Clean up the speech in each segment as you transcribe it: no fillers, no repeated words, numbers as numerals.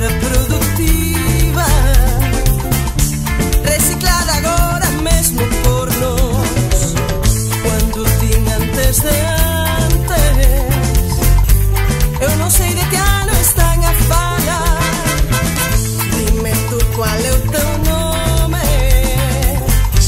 reproductiva, reciclada agora mesmo por nós. Quando tinha antes de antes, eu non sei de que ano están a falar. Dime tú qual é o teu nome,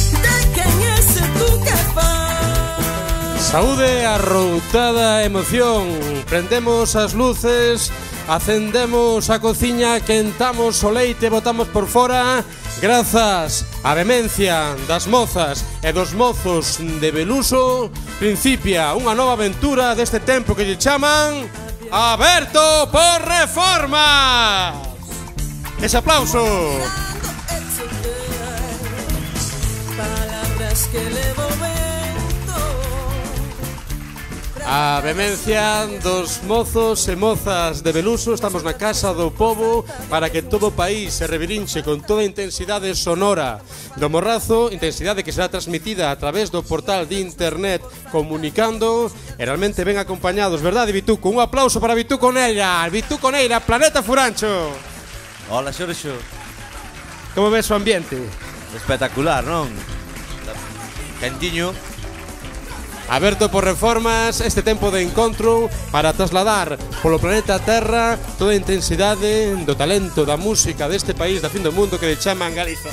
de quen é ese tú que faz. Saúde, arroutada emoción. Prendemos as luces, acendemos a cociña, quentamos o leite, botamos por fora. Grazas á vehemencia das mozas e dos mozos de Beluso, principia unha nova aventura deste tempo que lle chaman Aberto por Reformas. Ese aplauso. Palabras que levo vento. A vehemencia dos mozos e mozas de Beluso. Estamos na Casa do Pobo para que todo o país se revirinche con toda a intensidade sonora do Morrazo, intensidade que será transmitida a través do portal de internet Comunicando, e realmente ben acompañados, verdade, Vituco? Un aplauso para Vituco Neira, Planeta Furancho. Hola, Xorxo. Como ves o ambiente? Espectacular, non? Quentiño. Aberto por Reformas, este tempo de encontro para trasladar polo planeta Terra toda a intensidade do talento da música deste país da fin do mundo que le chaman Galiza.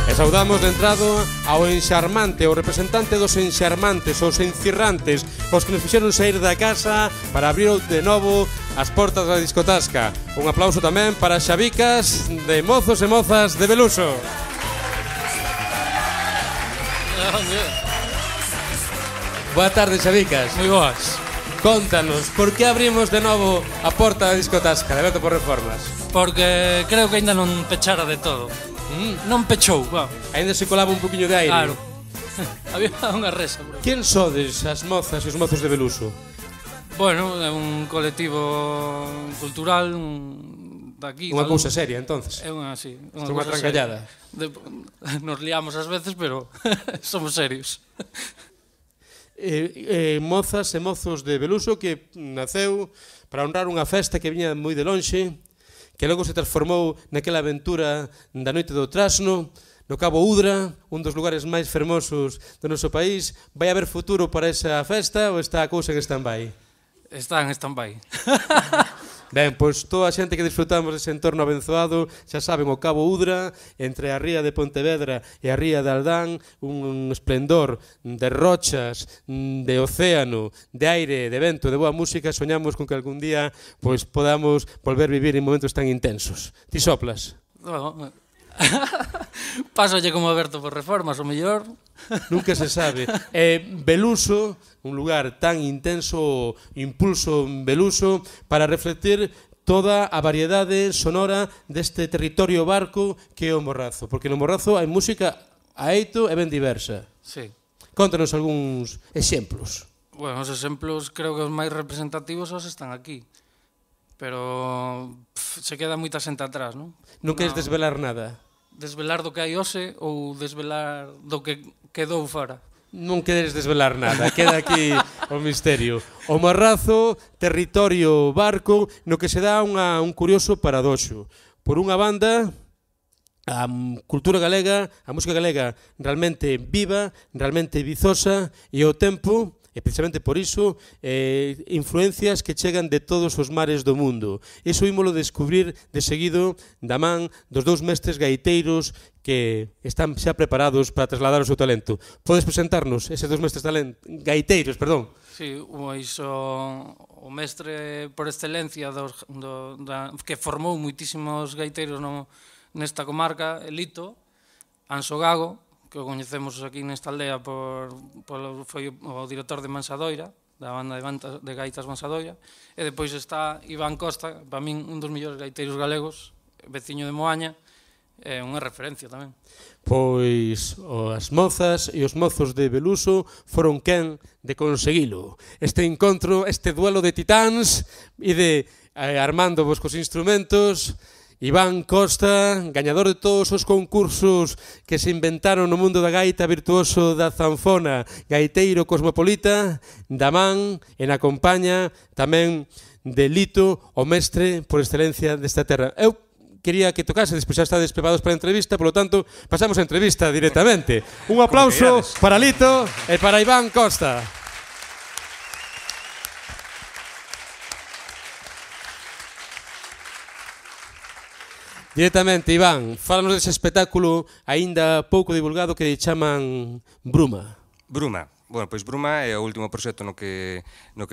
E saudamos de entrado ao enxarmante, ao representante dos enxarmantes, os encirrantes, os que nos fixeron sair da casa para abrir de novo as portas da discotasca. Un aplauso tamén para Xabicas de mozos e mozas de Beluso. Boa tarde, Xabicas. Moi boas. Contanos, por que abrimos de novo a porta da discotasca de Aberto por Reformas? Porque creo que ainda non pechara de todo. Non pechou, va. Ainda se colaba un poquinho de aire. Claro. Había unha resa. Quen sodes as mozas e os mozos de Beluso? Bueno, é un colectivo cultural daqui. Unha cousa seria, entonces. É unha, sí, unha trancallada. Nos liamos ás veces, pero somos serios. Mozas e mozos de Beluso que naceu para honrar unha festa que viña moi de lonxe, que logo se transformou naquela aventura da noite do Trasno, no Cabo Udra, un dos lugares máis fermosos do noso país. Vai haber futuro para esa festa ou está a cousa en stand-by? Está en stand-by. Ben, pois toda a xente que disfrutamos dese entorno abenzoado, xa saben, o Cabo Udra, entre a ría de Pontevedra e a ría de Aldán, un esplendor de rochas, de océano, de aire, de vento, de boa música. Soñamos con que algún día pois podamos volver vivir en momentos tan intensos. Ti soplas? No. Pásolle como Aberto por Reformas, o mellor. Nunca se sabe. Beluso, un lugar tan intenso, impulso Beluso, para reflectir toda a variedade sonora deste territorio barco que é o Morrazo. Porque no Morrazo hai música aeito e ben diversa. Sí. Contanos algúns exemplos. Bueno, os exemplos creo que os máis representativos os están aquí. Pero se queda moita xente atrás, non? Non queres desvelar nada? Desvelar do que hai hoxe ou desvelar do que quedou fora? Non queres desvelar nada, queda aquí o misterio. O Morrazo, territorio barco, no que se dá un curioso paradoxo. Por unha banda, a cultura galega, a música galega realmente viva, realmente vizosa, e ao tempo, e precisamente por iso, influencias que chegan de todos os mares do mundo. Iso ímolo descubrir de seguido da man dos dous mestres gaiteiros que están xa preparados para trasladar o seu talento. Podes presentarnos eses dous mestres gaiteiros, perdón? Sí, o mestre por excelencia que formou moitísimos gaiteiros nesta comarca, Lito, Anxo Gago, que o coñecemos aquí nesta aldea foi o director de Mansadoira, da banda de gaitas Mansadoira, e depois está Iván Costa, para min un dos mellores gaiteiros galegos, veciño de Moaña, é unha referencia tamén. Pois as mozas e os mozos de Beluso foron quen de conseguilo. Este encontro, este duelo de titáns e de armando vos cos instrumentos. Iván Costa, gañador de todos os concursos que se inventaron no mundo da gaita, virtuoso da zanfona, gaiteiro cosmopolita, da man, e na compaña tamén de Lito, o mestre por excelencia desta terra. Eu quería que tocase, despois xa estades preparados para a entrevista, polo tanto, pasamos a entrevista directamente. Un aplauso para Lito e para Iván Costa. Directamente, Iván, fálanos dese espectáculo aínda pouco divulgado que chaman Bruma. Bruma. Bueno, pois Bruma é o último proxecto no que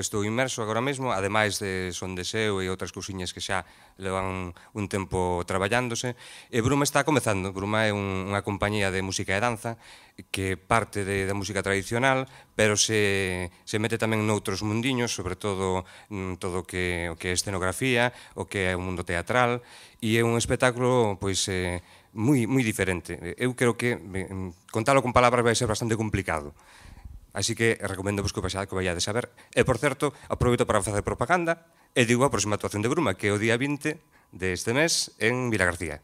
estou inmerso agora mesmo, ademais de Son de Seu e outras cousiñas que xa levan un tempo traballándose. E Bruma está comezando. Bruma é unha compañía de música e danza que parte da música tradicional, pero se mete tamén noutros mundiños, sobre todo todo o que é escenografía, o que é o mundo teatral, e é un espectáculo pois moi diferente. Eu creo que contalo con palabras vai ser bastante complicado. Así que recomendo que vayades a ver. E, por certo, aproveito para facer propaganda e digo a próxima actuación de Bruma, que é o día 20 deste mes en Vilagarcía.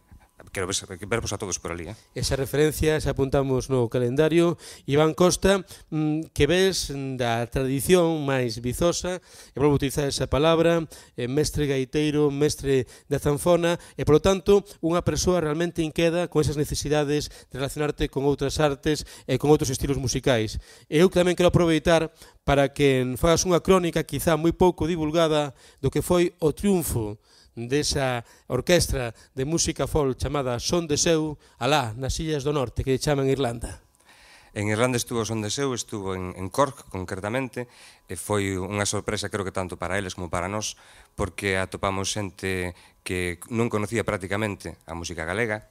Quero vervos a todos por ali. Esa referencia xa apuntamos no calendario. Iván Costa, que ves da tradición máis vizosa, e volvo a utilizar esa palabra, mestre gaiteiro, mestre da zanfona, e, polo tanto, unha persoa realmente inqueda con esas necesidades de relacionarte con outras artes e con outros estilos musicais. E eu tamén quero aproveitar para que fagas unha crónica, quizá moi pouco divulgada, do que foi o triunfo desa orquestra de música folk chamada Son de Seu, alá, nas Illas do Norte, que chaman Irlanda. En Irlanda estuvo Son de Seu, estuvo en Cork, concretamente, e foi unha sorpresa, creo que tanto para eles como para nós, porque atopamos xente que non conocía prácticamente a música galega,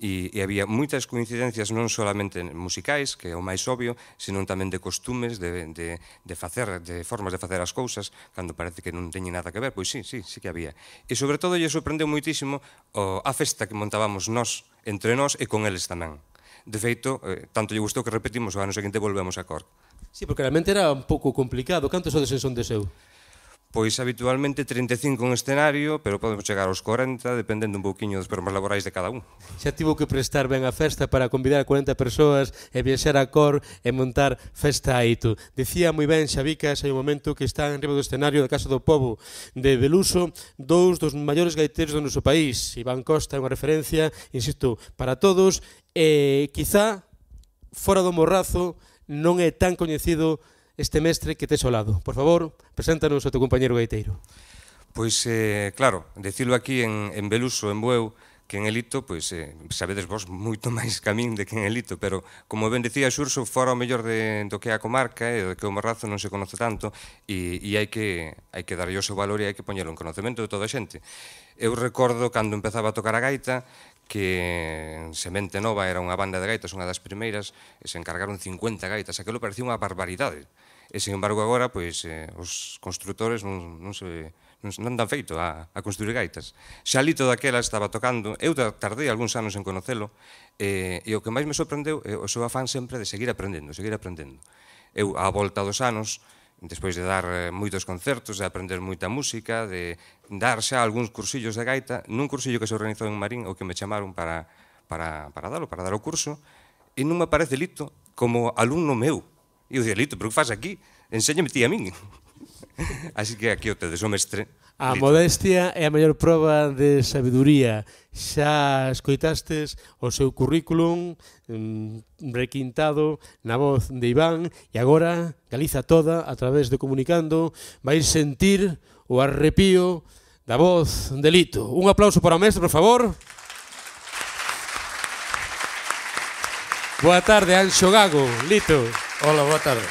e había moitas coincidencias non solamente musicais, que é o máis obvio, senón tamén de costumes, de formas de facer as cousas, cando parece que non teñen nada que ver, pois sí que había. E sobre todo lle sorprendeu moitísimo a festa que montábamos nós, entre nós e con eles tamén. De feito, tanto lle gustou que repetimos, o ano seguinte volvemos a Cork. Sí, porque realmente era un pouco complicado. Cantos sodes en Son de Seu? Pois habitualmente 35 en escenario, pero podemos chegar aos 40, dependendo un pouquiño dos programas laborais de cada un. Xa tivo que prestar ben a festa para convidar a 40 persoas e viaxar a Cor e montar festa a Ito. Dicía moi ben Xabicas, hai un momento que está en riba do escenario da Casa do Pobo de Beluso, dous dos maiores gaiteiros do noso país. Iván Costa é unha referencia, insisto, para todos, e quizá fora do Morrazo non é tan coñecido este mestre que tes ao lado. Por favor, preséntanos ao teu compañeiro gaiteiro. Pois, claro, dicilo aquí en Beluso, en Bueu, que en Elito, pois, sabedes vos moito máis que a min de que en Elito, pero, como ben dicía Xurso, fora o mellor do que é a comarca e do que o Morrazo non se conoce tanto, e hai que darlle o seu valor e hai que poñelo en conocemento de toda a xente. Eu recordo, cando empezaba a tocar a gaita, que Semente Nova era unha banda de gaitas, unha das primeiras, e se encargaron 50 gaitas, aquilo parecía unha barbaridade. E, sin embargo, agora, pois, os constructores non dan feito a construir gaitas. Xa Lito daquela estaba tocando, eu tardei algúns anos en conocelo, e o que máis me sorprendeu é o seu afán sempre de seguir aprendendo. Eu, á volta dos anos, despois de dar moitos concertos, de aprender moita música, de dar xa algúns cursillos de gaita, nun cursillo que se organizou en Marín, o que me chamaron para dar o curso, e non me aparece Lito como alumno meu. E eu dicía, Lito, pero que faz aquí? Enséñame ti a min. Así que aquí o tedes, o mestre. A modestia é a maior proba de sabiduría. Xa escoitastes o seu currículum requintado na voz de Iván, e agora Galiza toda, a través de Comunicando, vais sentir o arrepío da voz de Lito. Un aplauso para o mestre, por favor. Boa tarde, Anxo Gago, Lito. Hola, boa tarde.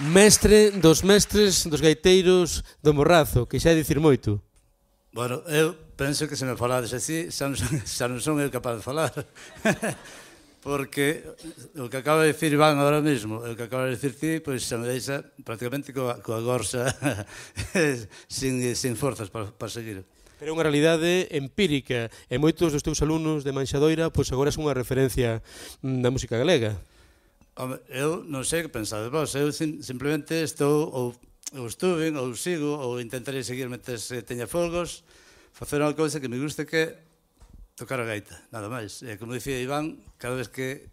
Mestre dos mestres dos gaiteiros do Morrazo, que xa é dicir moito. Bueno, eu penso que se me falades así, xa non son eu capaz de falar. Porque o que acaba de dicir Iván agora mesmo, o que acaba de dicir ti, pois xa me deixa prácticamente coa gorsa sin forzas para seguir. Pero é unha realidade empírica, e moitos dos teus alumnos de Manxadoira pois agora son unha referencia da música galega. Home, eu non sei que pensades vos, eu simplemente estou, ou estuve, ou sigo, ou intentarei seguir mentres teña folgos, facer unha cousa que me guste, que tocar a gaita, nada máis. E como dicía Iván, cada vez que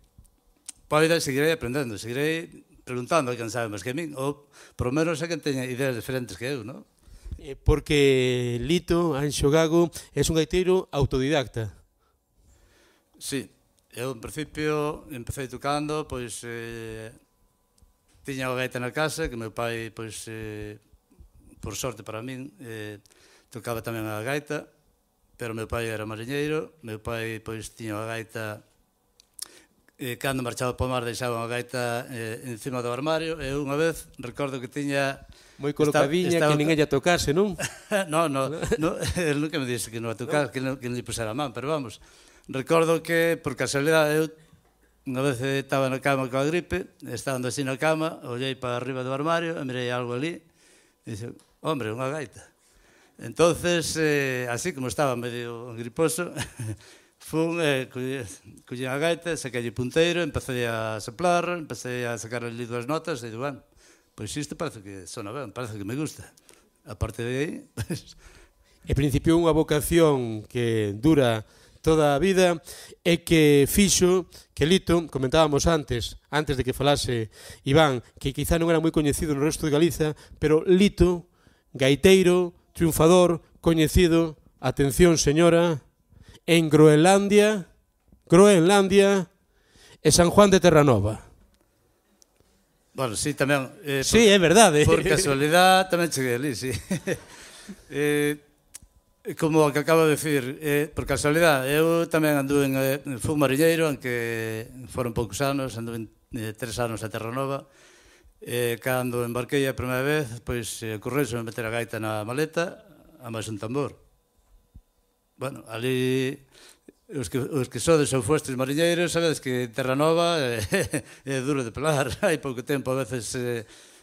poida seguirei aprendendo, seguirei preguntando a quen sabe máis que a min, ou, por lo menos, a quen teña ideas diferentes que eu, non? Porque Lito Anxo Gago é un gaiteiro autodidacta. Sí, eu, en principio, empecé tocando, pois, tiña a gaita na casa, que meu pai, pois, por sorte para min, tocaba tamén a gaita, pero meu pai era mariñeiro, meu pai, pois, tiña a gaita, cando marchaba para o mar deixaba a gaita encima do armario, e unha vez recordo que tiña... Moi colocadiña, que ninguén lla tocase, non? No, el nunca me disse que non a tocar, que non lle pusera a man, pero vamos, recordo que, por casualidade, eu unha vez estaba na cama coa gripe, estando así na cama, olhei para arriba do armario, e mirei algo ali, e dixo, hombre, unha gaita. Entonces, así como estaba medio griposo, fun, collín a gaita, saquei punteiro, empecé a soplar, empecé a sacar ali 2 notas, e digo, bueno, pois isto parece que sona ben, parece que me gusta. A parte de aí, pues... En principio unha vocación que dura toda a vida e que fixo que Lito, comentábamos antes de que falase Iván, que quizá non era moi coñecido no resto de Galiza, pero Lito, gaiteiro, triunfador, coñecido, atención señora, en Groenlandia e San Juan de Terranova. Bueno, sí, tamén... Sí, é verdade. Por casualidade tamén cheguei ali, sí. Como o que acabo de decir, por casualidade, eu tamén anduve fui mariñeiro, aunque foron poucos anos, anduve 3 anos a Terranova. Cando embarquei a primeira vez, pois ocorreuse meter a gaita na maleta, a máis un tambor. Bueno, ali... Os que sodes ou fostes mariñeiros sabedes que Terranova é duro de pelar, hai pouco tempo a veces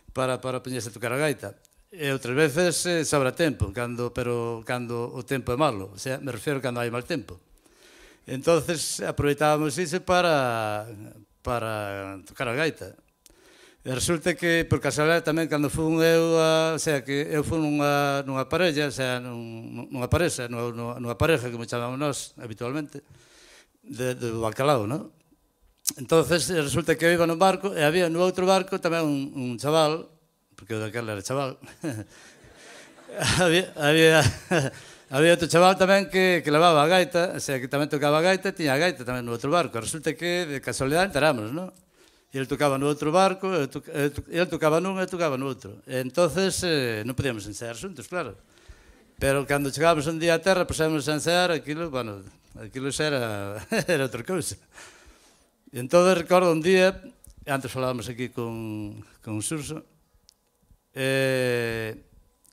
para poñerse a tocar a gaita, e outras veces sobra tempo, pero cando o tempo é malo, o sea, me refiero cando hai mal tempo. Entonces aproveitábamos iso para tocar a gaita. E resulta que, por casualidade, tamén cando fun eu, o sea, que eu fun nunha parella, o sea, nunha pareja, como chamamos nós habitualmente, do bacalao, non? Entonces, resulta que eu iba nun barco, e había no outro barco tamén un chaval, porque eu daquela era chaval, había outro chaval tamén que levaba a gaita, o sea, que tamén tocaba a gaita, tiña a gaita tamén no outro barco. Resulta que, de casualidade, enteramos, non? E ele tocaba no outro barco, ele tocaba nun e tocaba no outro. E entonces non podíamos ensaiar xuntos, claro. Pero cando chegábamos un día a terra, pusemos a ensaiar, aquilo xa era outra cousa. E entón recordo un día, antes falábamos aquí con Xurxo,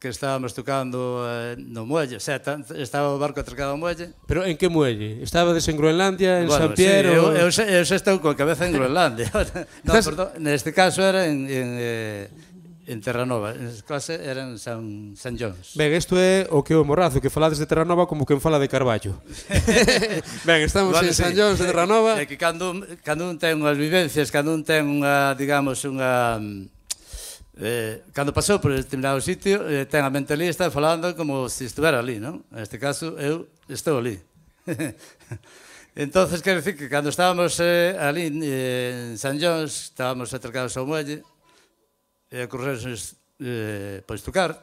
que estábamos tocando no muelle, o sea, estaba o barco atracado ao muelle. Pero en que muelle? Estabades en Groenlandia, en San Piero? Sí, eu xa estou coa cabeza en Groenlandia. No, perdón, neste caso era en Terranova, neste caso era en San Jones. Ben, isto é o que o Morrazo, que falades de Terranova como quen fala de Carballo. Ben, estamos en San Jones de Terranova. É que cando un ten unhas vivencias, cando un ten unha, digamos, unha... cando pasou por determinado sitio, ten a mente ali, está falando como se estuvera ali, non? Neste caso, eu estou ali. Entonces, quero dicir que cando estábamos ali en San Jones, estábamos atracados ao muelle, e ocorreuse pois tocar.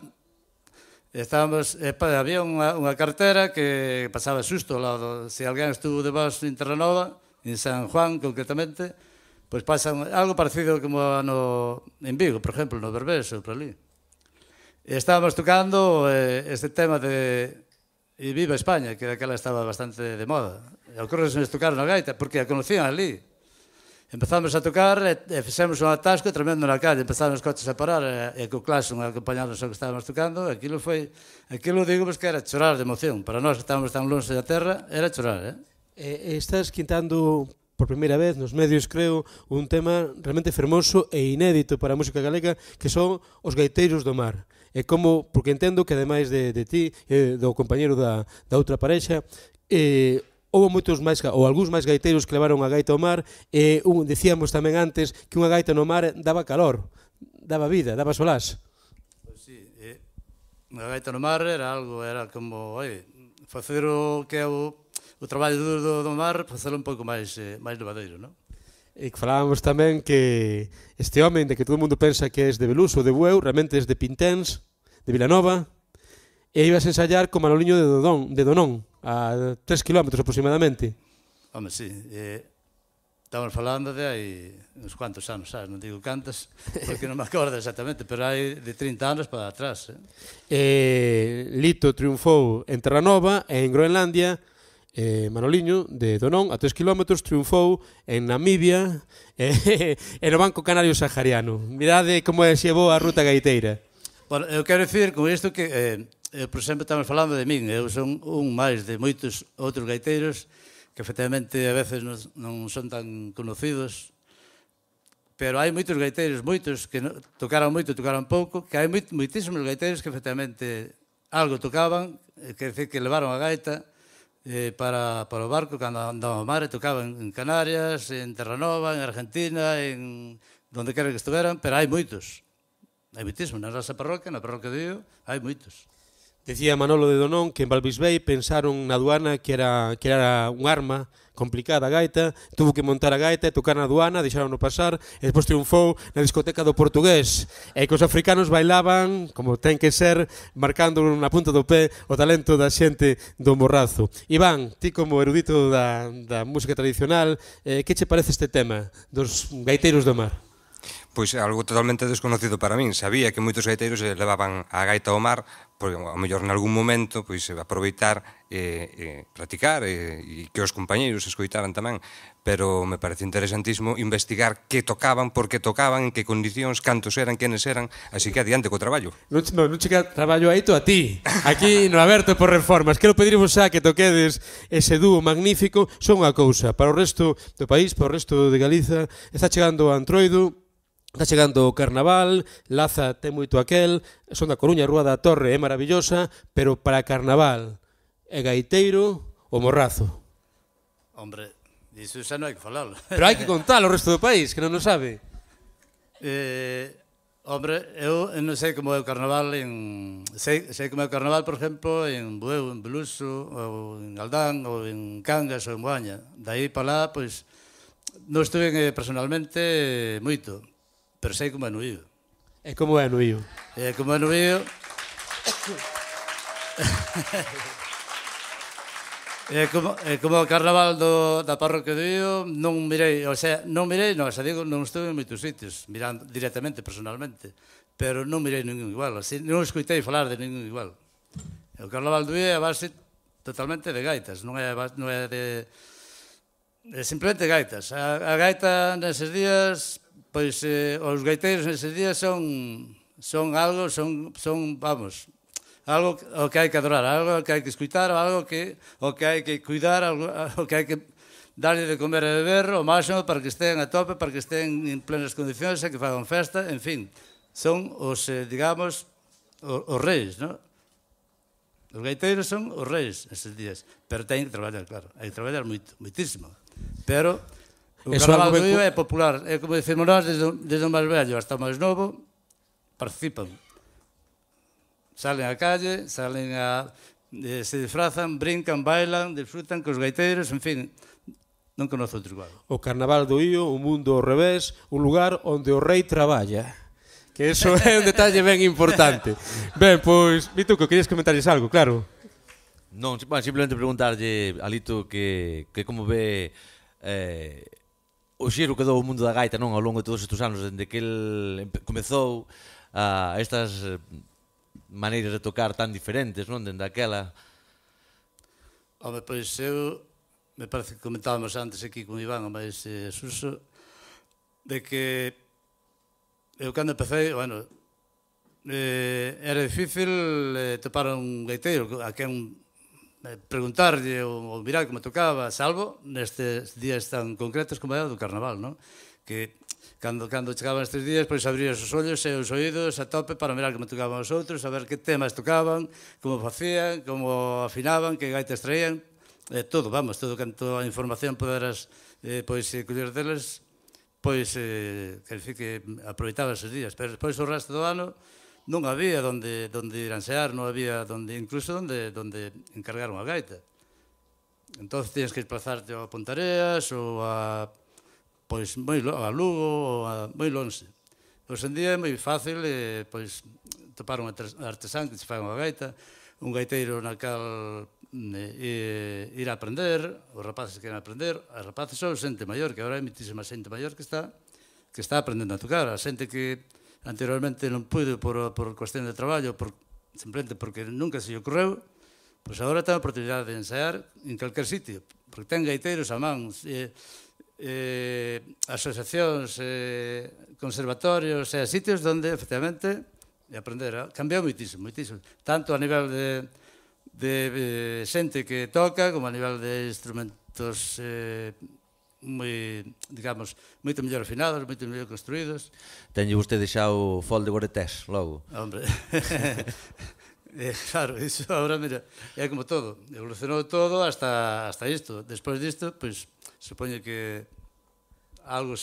Había unha cartera que pasaba susto ao lado. Se alguén estuvo de vos en Terranova, en San Juan concretamente, pois pasan algo parecido como en Vigo, por exemplo, no Berbés ou por ali. E estábamos tocando este tema de Viva España, que daquela estaba bastante de moda. E ocorreuse tocar na gaita, porque a conocían ali. Empezamos a tocar e fixemos un atasco tremendo na calle, empezaron os coches a parar e co claxon acompañados ao que estábamos tocando. Aquilo digo que era chorar de emoción. Para nós que estábamos tan longe da terra, era chorar, Estás quintando por primeira vez nos medios, creo, un tema realmente fermoso e inédito para a música galega, que son os gaiteiros do mar. E como, porque entendo que ademais de ti, do compañeiro da outra parexa, houve moitos máis, ou algúns máis gaiteiros que levaron a gaita ao mar, e decíamos tamén antes que unha gaita no mar daba calor, daba vida, daba solás. Pois sí, unha gaita no mar era como, facer o que é o traballo duro do mar, facelo un pouco máis levadeiro, non? E que falábamos tamén que este home, de que todo o mundo pensa que é de Beluso ou de Bueu, realmente é de Pinténs, de Vilanova, e ibas a ensayar con Manoliño de Donón, a 3 kilómetros aproximadamente. Home, sí. Estamos falando de hai uns cuantos anos, sabes? Non digo cantos, porque non me acordo exactamente, pero hai de 30 anos para atrás. Lito triunfou en Terranova e en Groenlandia, Manoliño de Donón a 3 km triunfou en Namibia e no Banco Canario Sahariano. Mirade como se llevou a ruta gaiteira. Bueno, eu quero dicir con isto que, por exemplo, estamos falando de min, eu son un máis de moitos outros gaiteiros que efectivamente a veces non son tan conocidos, pero hai moitos gaiteiros, moitos que tocaron moito, tocaron pouco, que hai moitísimos gaiteiros que efectivamente algo tocaban, quer dizer que levaron a gaita para o barco cando andaban ao mar, e tocaban en Canarias, en Terranova, en Argentina, en donde quer que estuveran, pero hai moitos. Hai moitísimos, na nosa parroquia, na parroquia de Io, hai moitos. Decía Manolo de Donón que en Valbisbei pensaron na aduana que era un arma complicada a gaita, tuvo que montar a gaita e tocar na aduana, deixaron pasar, e despois triunfou na discoteca do Portugués, e que os africanos bailaban, como ten que ser, marcando na punta do pé o talento da xente do Morrazo. Iván, ti como erudito da música tradicional, que che parece este tema dos gaiteiros do mar? Pois algo totalmente desconocido para min. Sabía que moitos gaiteiros levaban a gaita ao mar, porque ao mellor en algún momento pois aproveitar e practicar e que os compañeiros escoitaran tamén, pero me parece interesantísimo investigar que tocaban, por que tocaban, en que condicións, cantos eran, quenes eran, así que adiante co traballo. Non chega traballo aí a ti, aquí no Aberto por Reformas. Quero pedirvos xa que toquedes ese dúo magnífico. Son unha cousa, para o resto do país, para o resto de Galiza, está chegando o Antroido, está chegando o Carnaval, Laza ten moito aquel, son da Coruña, Rúa da Torre é maravillosa, pero para Carnaval e gaiteiro, o Morrazo. Hombre, iso xa non hai que falalo. Pero hai que contar o resto do país, que non o sabe. Hombre, eu non sei como é o Carnaval sei como é o Carnaval, por exemplo, en Bueu, en Beluso, ou en Aldán, ou en Cangas, ou en Moaña. Daí para lá, pois, non estuve personalmente moito, pero sei como é no Io. E como é no Io? Como é no Io... como o Carnaval da parroquia do Io, non mirei, xa digo, non estuve en moitos sitios, mirando directamente, personalmente, pero non mirei ningún igual, así, non escoitei falar de ningún igual. O Carnaval do Io é a base totalmente de gaitas, non é de... simplemente gaitas. A gaita neses días... Pois os gaiteiros neses días son algo, vamos, algo o que hai que adorar, algo que hai que escutar, algo que hai que cuidar, algo que hai que darlle de comer e beber o máximo para que estén a tope, para que estén en plenas condicións e que fagan festa, en fin, son os, digamos, os reis, non? Os gaiteiros son os reis neses días, pero teñen que traballar, claro, hai que traballar moitísimo, pero... O Carnaval do Io é popular, é como dicirmos nós, desde o máis vello hasta o máis novo, participan. Salen á calle, se disfrazan, brincan, bailan, disfrutan cos gaiteiros, en fin, non conozo outro igual. O Carnaval do Io, un mundo ao revés, un lugar onde o rei traballa. Que eso é un detalle ben importante. Ben, pois, Vituco, querías comentarles algo, claro? Non, simplemente preguntarlle a Lito que como ve... o xiro que dou o mundo da gaita, non, ao longo de todos estes anos, dende que el comezou a estas maneiras de tocar tan diferentes, non, dende aquela. Home, pois eu, me parece que comentábamos antes aquí con Iván, o máis Suso, de que eu cando empecé, bueno, era difícil topar un gaiteiro a quen preguntarlle ou mirar como tocaba, salvo nestes días tan concretos como é o do Carnaval, non? Que cando chegaban estes días, pois abrías os ollos e os oídos a tope para mirar como tocaban os outros, a ver que temas tocaban, como facían, como afinaban, que gaitas traían, todo, vamos, todo canto a información poderas pois coller deles, pois quer dicir que aproveitaba esos días, pero despois o resto do ano non había donde ir a ensear, non había incluso donde encargar unha gaita. Entón tienes que desplazarte a Pontareas ou a pois a Lugo, moi lonxe. Hoxe en día é moi fácil pois topar un artesán que se fai unha gaita, un gaiteiro na cal ir a aprender, os rapaces que queren aprender, as rapaces son xente maior, que agora hai muitísima xente maior que está aprendendo a tocar, a xente que anteriormente non pude por cuestión de traballo, simplemente porque nunca se lle ocorreu, pois agora ten a oportunidade de ensaiar en calquer sitio, porque ten gaiteiros a man, asociacións, conservatorios, sitios onde, efectivamente, aprender. Cambiou moitísimo, moitísimo. Tanto a nivel de xente que toca, como a nivel de instrumentos digamos, moito mellor afinados, moito mellor construídos. Tenlle vostede xa o fol de Goretés, logo. Hombre, claro, iso agora, mira, é como todo. Evolucionou todo hasta isto. Despois disto, pois, supoño que algo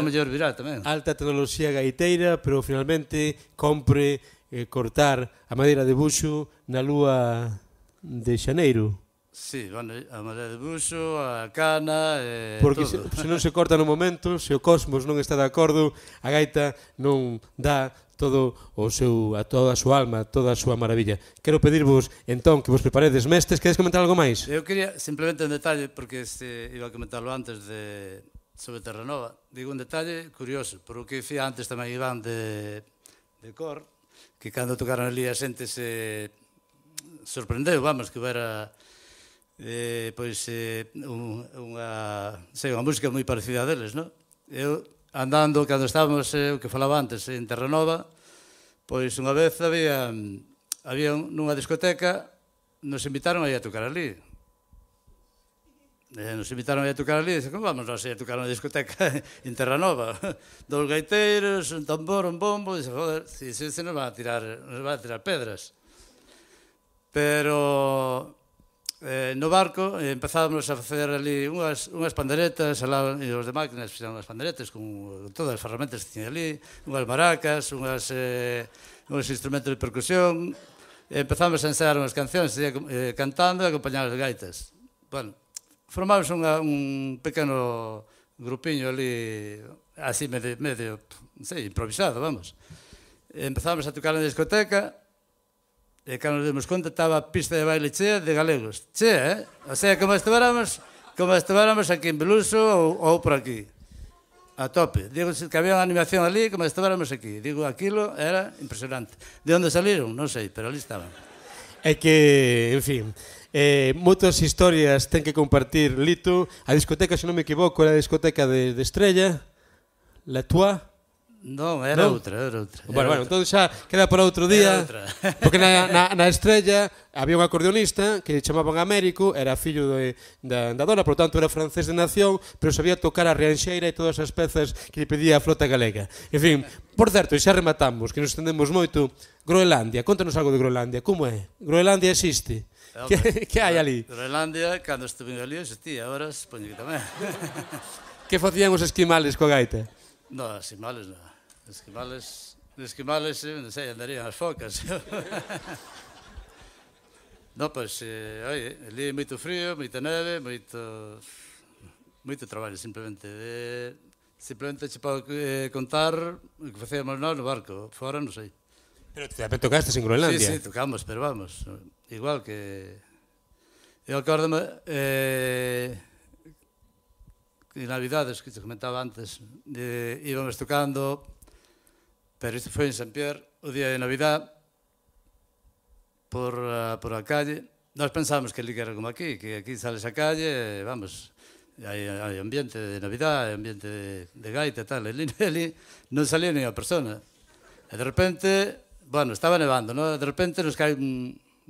mellor virá tamén. Alta tecnoloxía gaiteira, pero finalmente compre cortar a madeira de buxo na lúa de xaneiro. Sí, bueno, a madeira de buxo, a cana, porque todo. se non se corta no momento, se o cosmos non está de acordo, a gaita non dá todo a toda a súa alma, toda a súa maravilla. Quero pedirvos, entón, que vos preparedes mestres. Queres comentar algo máis? Eu quería, simplemente un detalle, porque iba a comentarlo antes sobre Terranova. Digo un detalle curioso, por o que dicía antes tamén Iván de Cor, que cando tocaron ali a xente se sorprendeu, vamos, que era pois unha música moi parecida a deles, non? Eu, andando, cando estábamos, o que falaba antes, en Terranova, pois unha vez había nunha discoteca, nos invitaron a ir a tocar ali. Nos invitaron a ir a tocar ali, e dixen, como vamos nós a ir a tocar unha discoteca en Terranova? Dos gaiteiros, un tambor, un bombo, e dixen, joder, se nos van a tirar pedras. Pero no barco empezábamos a facer ali unhas panderetas, e os de máquinas fixeron unhas panderetas con todas as ferramentas que tiña ali, unhas maracas, uns instrumentos de percusión, e empezamos a ensaiar unhas cancións cantando e acompañar as gaitas. Bueno, formamos un pequeno grupiño ali, así medio, non sei, improvisado, vamos. Empezamos a tocar na discoteca, e cando nos demos conta estaba a pista de baile chea de galegos. Chea, O sea, como estivéramos aquí en Beluso ou por aquí. A tope. Digo que había unha animación ali como estivéramos aquí. Digo, aquilo era impresionante. De onde saliron? Non sei, pero ali estaban. É que, en fin, moitas historias ten que compartir Lito. A discoteca, se non me equivoco, era a discoteca de Estrella, La Tua. Non, era outra. Bueno, entón xa queda para outro día, porque na Estrella había un acordeonista que chamaban Américo, era fillo da dona, por tanto era francés de nación, pero sabía tocar a rianxeira e todas as pezas que lle pedía a flota galega. En fin, por certo, xa rematamos, que nos estendemos moito. Groenlandia, contanos algo de Groenlandia, como é? Groenlandia existe? Que hai ali? Groenlandia, cando estuve ali, existía, agora supoño que tamén. Que facían os esquimales coa gaita? Non, esquimales non. Esquimales, non sei, andarían as focas. Non, pois, oi, ali moito frío, moita neve, moito traballo, simplemente. Simplemente che podo contar o que facíamos nós no barco, fora non sei. Pero tamén tocastes en Groenlandia? Sí, tocamos, pero vamos, igual que... Eu acórdome... en Navidades, que te comentaba antes, íbamos tocando, pero isto foi en Sant Pierre, o día de Navidad, por a calle. Nós pensábamos que ali era como aquí, que aquí sales a calle, vamos, hai ambiente de Navidad, hai ambiente de gaita e tal, e ali non salía ni a persona. E de repente, bueno, estaba nevando, non? De repente nos cae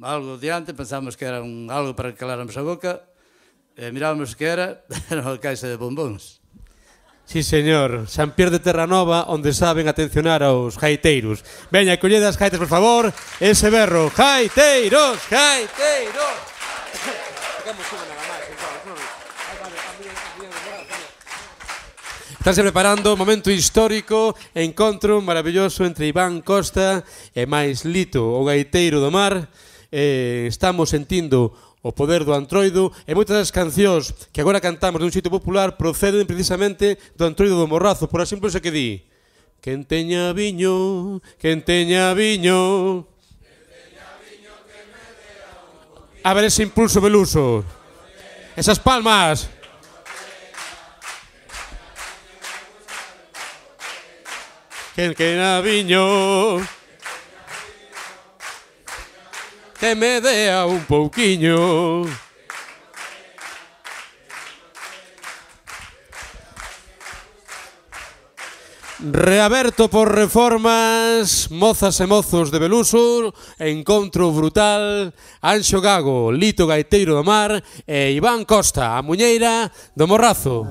algo diante, pensábamos que era algo para que caláramos a boca, e mirábamos que era unha caixa de bombóns. Sí, señor. Sant Pierre de Terranova, onde saben atencionar aos gaiteiros. Veña, collede as gaitas, por favor. Ese berro. Gaiteiros, gaiteiros. Estánse preparando momento histórico, encontro maravilloso entre Iván Costa e máis Lito, o gaiteiro do mar. Estamos sentindo o poder do antroido, e moitas das cancións que agora cantamos dun xeito popular proceden precisamente do antroido do Morrazo, por exemplo, ese que di: quen teña viño, quen teña viño. A ver ese impulso, Beluso. Esas palmas. Quen teña viño, que me dea un pouquiño. Reaberto por Reformas, mozas e mozos de Beluso, encontro brutal, Anxo Gago, Lito Gaiteiro do Mar e Iván Costa, a muñeira do Morrazo.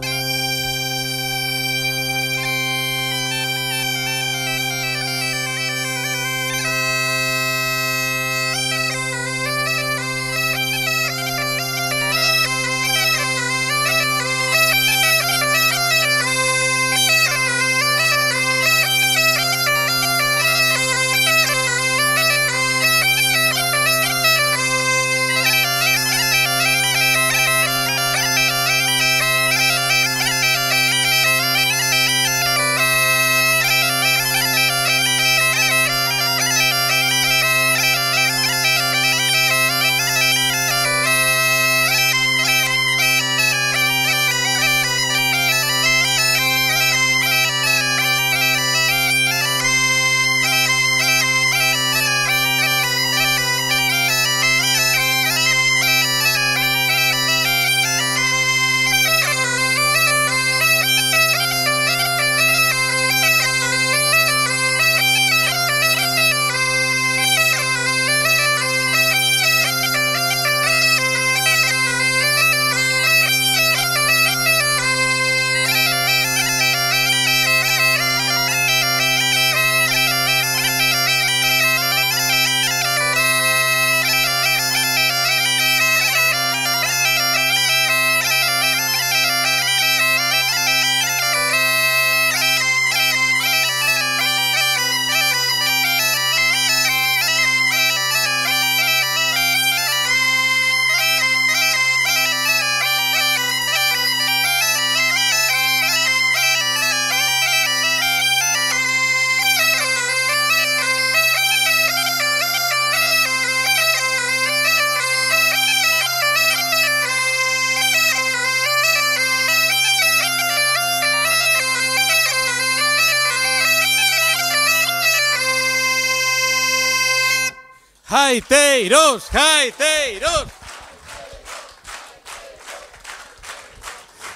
Gaiteiros, gaiteiros.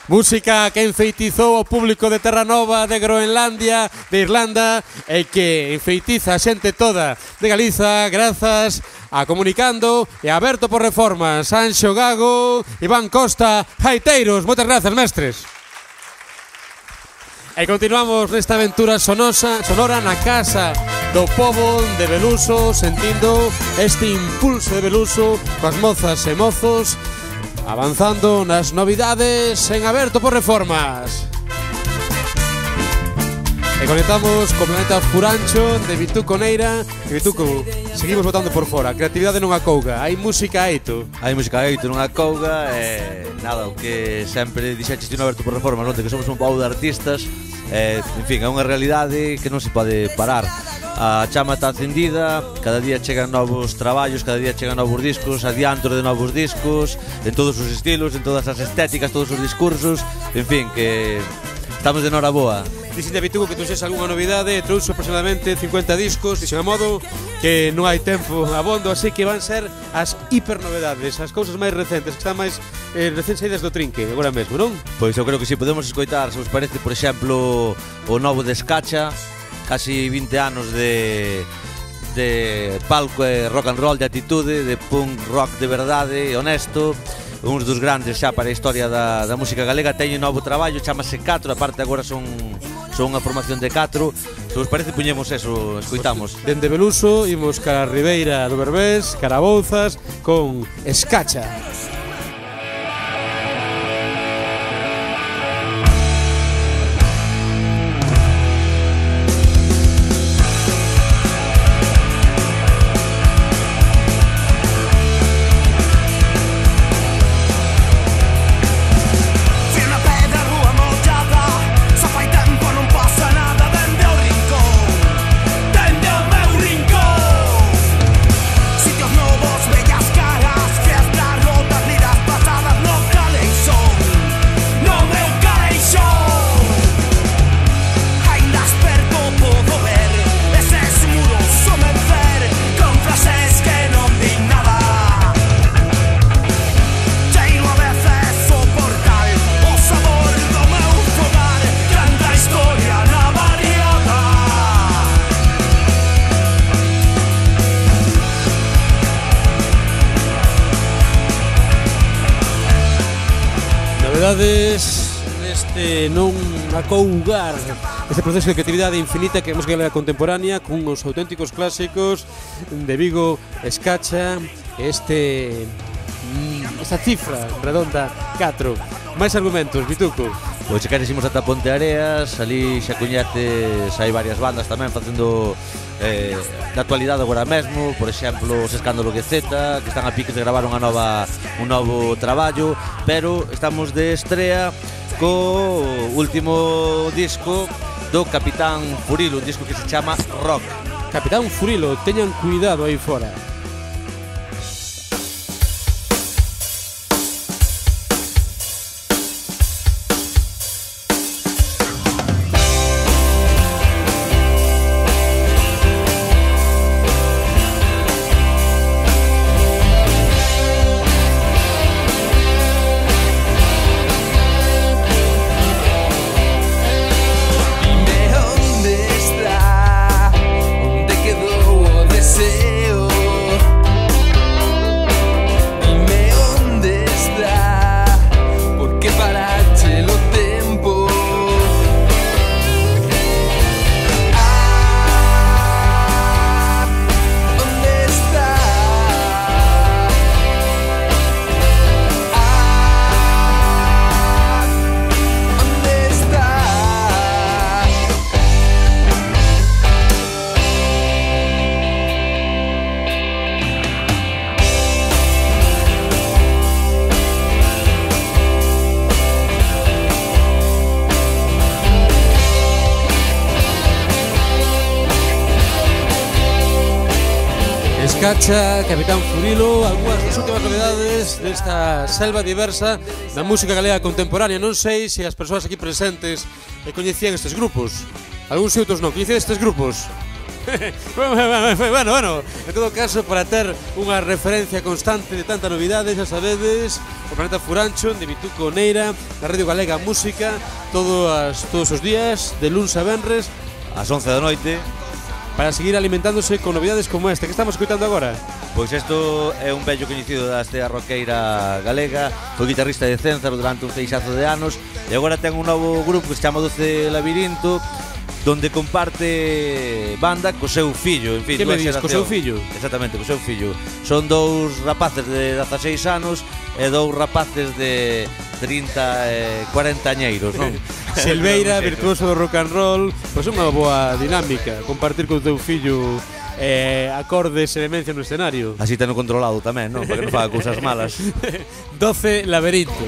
Música que enfeitizou o público de Terranova, de Groenlandia, de Irlanda e que enfeitiza a xente toda de Galiza grazas a Comunicando e a Aberto por Reformas. Anxo Gago, Iván Costa, gaiteiros. Moitas grazas, mestres. E continuamos nesta aventura sonora na casa do pobo de Beluso, sentindo este impulso de Beluso coas mozas e mozos, avanzando nas novidades en Aberto por Reformas. E conectamos co Planeta Furancho de Vituco Neira. E Vituco, seguimos votando por fora. A creatividade non acouga, hai música eito. Hai música eito, non acouga. Nada, o que sempre dixeches ti no Aberto por Reformas, non? Que somos un pobo de artistas. En fin, é unha realidade que non se pode parar. A chama está encendida, cada día chegan novos traballos, cada día chegan novos discos, adiantos de novos discos, en todos os estilos, en todas as estéticas, todos os discursos. En fin, que estamos de noraboa. Dixen de Vituco que trouxes algunha novidade, trouxo aproximadamente 50 discos, dixen a modo que non hai tempo abondo, así que van ser as hipernovedades, as cousas máis recentes, que están máis recén saídas do trinque, agora mesmo, non? Pois eu creo que si podemos escoitar, se vos parece, por exemplo, o novo de Escacha, casi 20 anos de palco e rock and roll, de atitude, de punk rock de verdade, honesto, uns dos grandes xa para a historia da música galega. Teñen novo traballo, chamase 4, aparte agora son unha formación de 4. Se vos parece, puñemos eso, escoitamos. Dende Beluso, imos cara a Ribeira do Berbés, cara a Bouzas, con Escacha. novedades neste non acougar este proceso de creatividade infinita que é a música galega contemporánea con os auténticos clásicos de Vigo, Escacha, esta cifra redonda 4. Máis argumentos, Bituco. Pois se queres imos ata Ponte Areas, ali xa coñeces, hai varias bandas tamén facendo da actualidade agora mesmo, por exemplo, os Escándalo GZ, que están a pique de gravar un novo traballo, pero estamos de estrea co último disco do Capitán Furilo, un disco que se chama Rock. Capitán Furilo, teñan cuidado aí fora. Escacha, Capitán Furilo, algunhas das últimas novedades desta selva diversa da música galega contemporánea. Non sei se as persoas aquí presentes coñecían estes grupos. Algúns e outros non. Coñecían estes grupos? Bueno, en todo caso, para ter unha referencia constante de tanta novidade, xa sabedes, o Planeta Furancho, de Bituco Neira, na Radio Galega Música, todos os días, de luns a venres, ás 11 da noite, para seguir alimentándose con novidades como esta que estamos escoitando agora. Pois isto é un vello coñecido da estea roqueira galega, foi guitarrista de Cénzaro durante un feixazo de anos e agora ten un novo grupo que se chama 12 Labirinto, donde comparte banda co seu fillo. En fin, que me dis, co seu fillo? Exactamente, co seu fillo. Son dous rapaces de 16 anos e dous rapaces de 30 e 40 añeiros, non? Silveira, virtuoso do rock and roll, pois unha boa dinámica compartir con teu fillo acordes e demencia no escenario. Así teno controlado tamén, non? Para que non faga cousas malas. 12 Laberinto.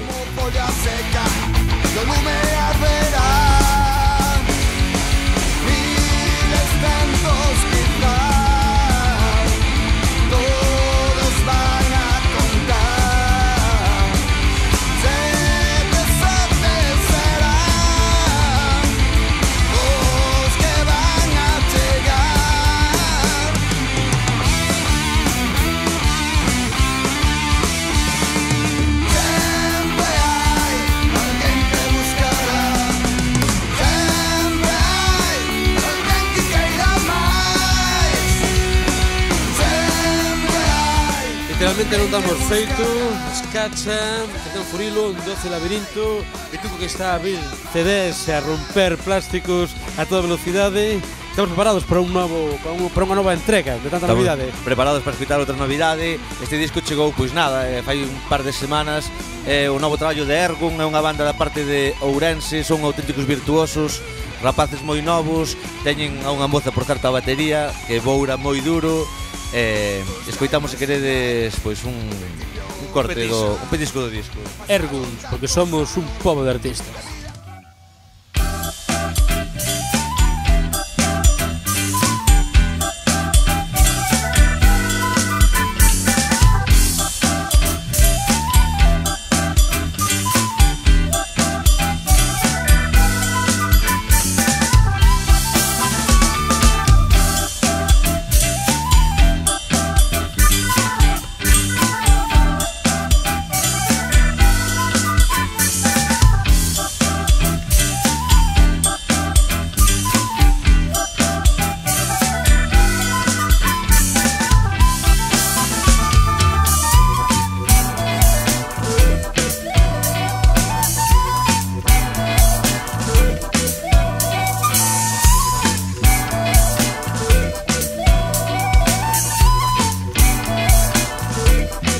Literalmente non damos feito. Escacha, Capitán Furilo, 12 Labirinto, Bituco que está a abrir CDs e a romper plásticos a toda velocidade. Estamos preparados para unha nova entrega de tanta novidade. Preparados para escutar outra novidade. Este disco chegou, pois nada, fai un par de semanas. O novo traballo de Ergun, é unha banda da parte de Ourense, son auténticos virtuosos, rapaces moi novos, teñen a unha moza por certo a batería, que boura moi duro. Escoitamos, se queredes, pois un corte un petisco do disco. Erguns, porque somos un pobo de artistas.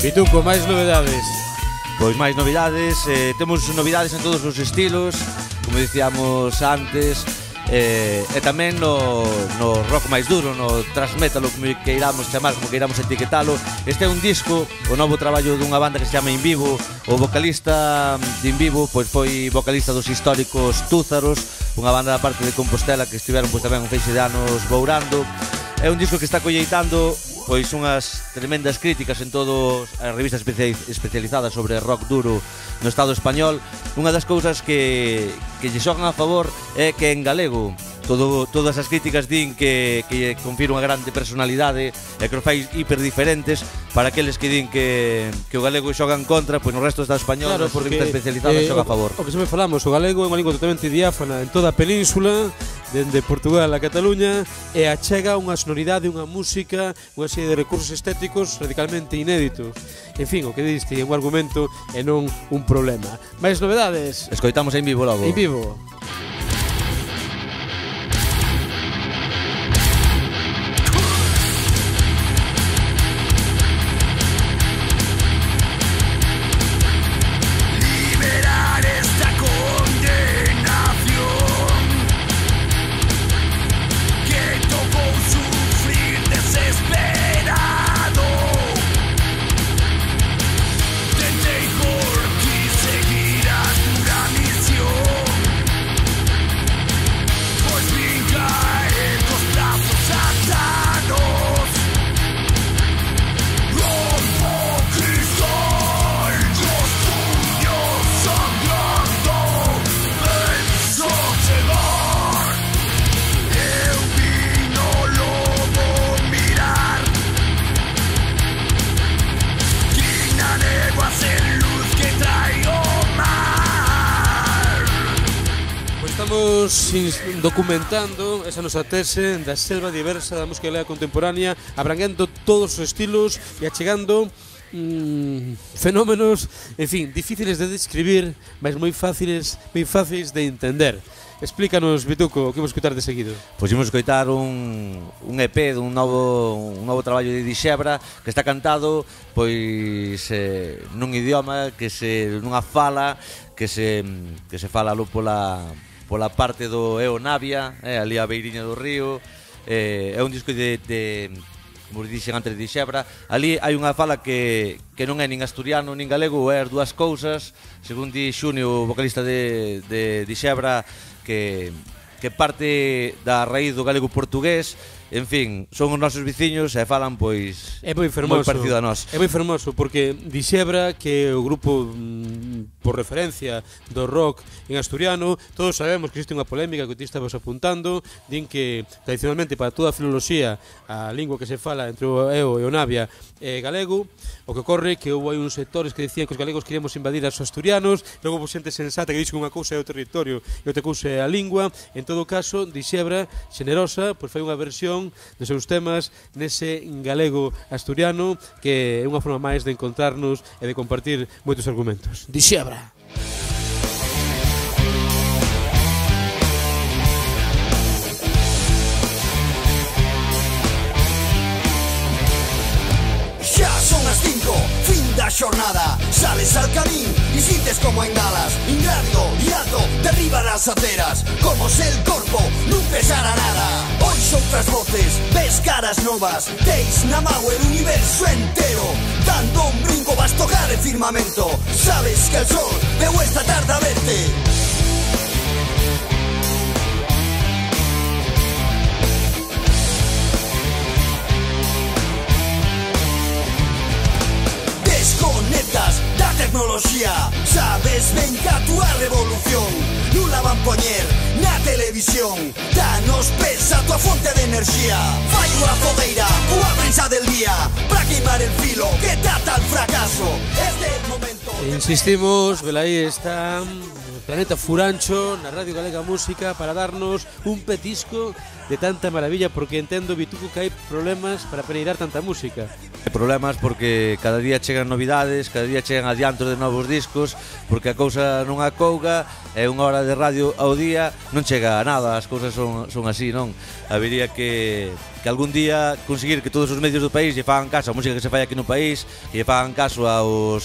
Pituco, máis novedades. Pois máis novidades, temos novidades en todos os estilos, como dicíamos antes, e tamén no rock máis duro, no thrash metal, como queiramos chamar, como queiramos etiquetalo. Este é un disco, o novo traballo dunha banda que se chama In Vivo. O vocalista de In Vivo pois foi vocalista dos históricos Túzaros, unha banda da parte de Compostela que estiveron pois tamén un feixe de anos bourando. É un disco que está colleitando pois unhas tremendas críticas en todas as revistas especializadas sobre rock duro no Estado español. Unha das cousas que lle xogan a favor é que en galego todas as críticas din que confira unha grande personalidade e que os fai hiper diferentes. Para aqueles que din que o galego xoga en contra, pois no resto do Estado español, claro, as revistas especializadas xoga a favor. O que sempre falamos, o galego é unha lingua totalmente diáfana en toda a península, dende Portugal a Cataluña, e achega unha sonoridade, unha música, unha serie de recursos estéticos radicalmente inéditos. En fin, o que diste é un argumento e non un problema. Mais novedades? Escoitamos En Vivo logo. En Vivo. Estamos documentando esa nosa tese da selva diversa da música galega contemporánea, abrangendo todos os estilos e achegando fenómenos, en fin, difíciles de describir, mas moi fáciles de entender. Explícanos, Pituco, o que vamos escutar de seguido. Pois imos escoitar un EP dun novo traballo de Dixebra que está cantado pois nun idioma nunha fala que se fala aló pola parte do Eo Navia, ali a beiriña do río. É un disco como dixen antes, de Dixebra. Ali hai unha fala que non é nin asturiano nin galego, é as dúas cousas. Según di Xunio, o vocalista de Dixebra, que parte da raíz do galego portugués. En fin, son os nosos veciños e falan pois moi parecido a nós. É moi fermoso porque Dixebra, que é o grupo por referencia do rock en asturiano, todos sabemos que existe unha polémica que ti estabas apuntando, din que tradicionalmente para toda a filoloxía a lingua que se fala entre o Eo e o Navia é galego. O que ocorre que houve uns sectores que decían que os galegos queríamos invadir aos asturianos, logo houve xente sensata que dixo que unha cousa é o territorio e outra cousa é a lingua. En todo caso, Dixebra, xenerosa, pois fai unha versión dos seus temas nese galego asturiano, que é unha forma máis de encontrarnos e de compartir moitos argumentos. Dixebra. Xa son as 5, fin da xornada. Sales al camín e sintes como engalas. Ingrávido e alto, derriba nas aceras. Como se el corpo non pesara nada. Ois outras voces, ves caras novas. Teis na mau el universo entero. Dando un brinco vas tocar el firmamento. Sabes que el sol veu esta tarde a verte. Desconectas da tecnoloxía. Sabes ben que a túa revolución non la van poñer na televisión. Danos pesa a túa fonte de enerxía. Fai unha fogueira, unha prensa del día, para queimar el filo que trata el fracaso. Este momento. Insistimos, velaí está Planeta Furancho na Radio Galega Música para darnos un petisco de tanta maravilla, porque entendo, Vituco, que hai problemas para peneirar tanta música. Hai problemas porque cada día chegan novidades, cada día chegan adiantos de novos discos, porque a cousa non acouga, é unha hora de radio ao día, non chega a nada, as cousas son así, non? Habería que algún día conseguir que todos os medios do país lle fagan caso a música que se fai aquí no país, que lle fagan caso ao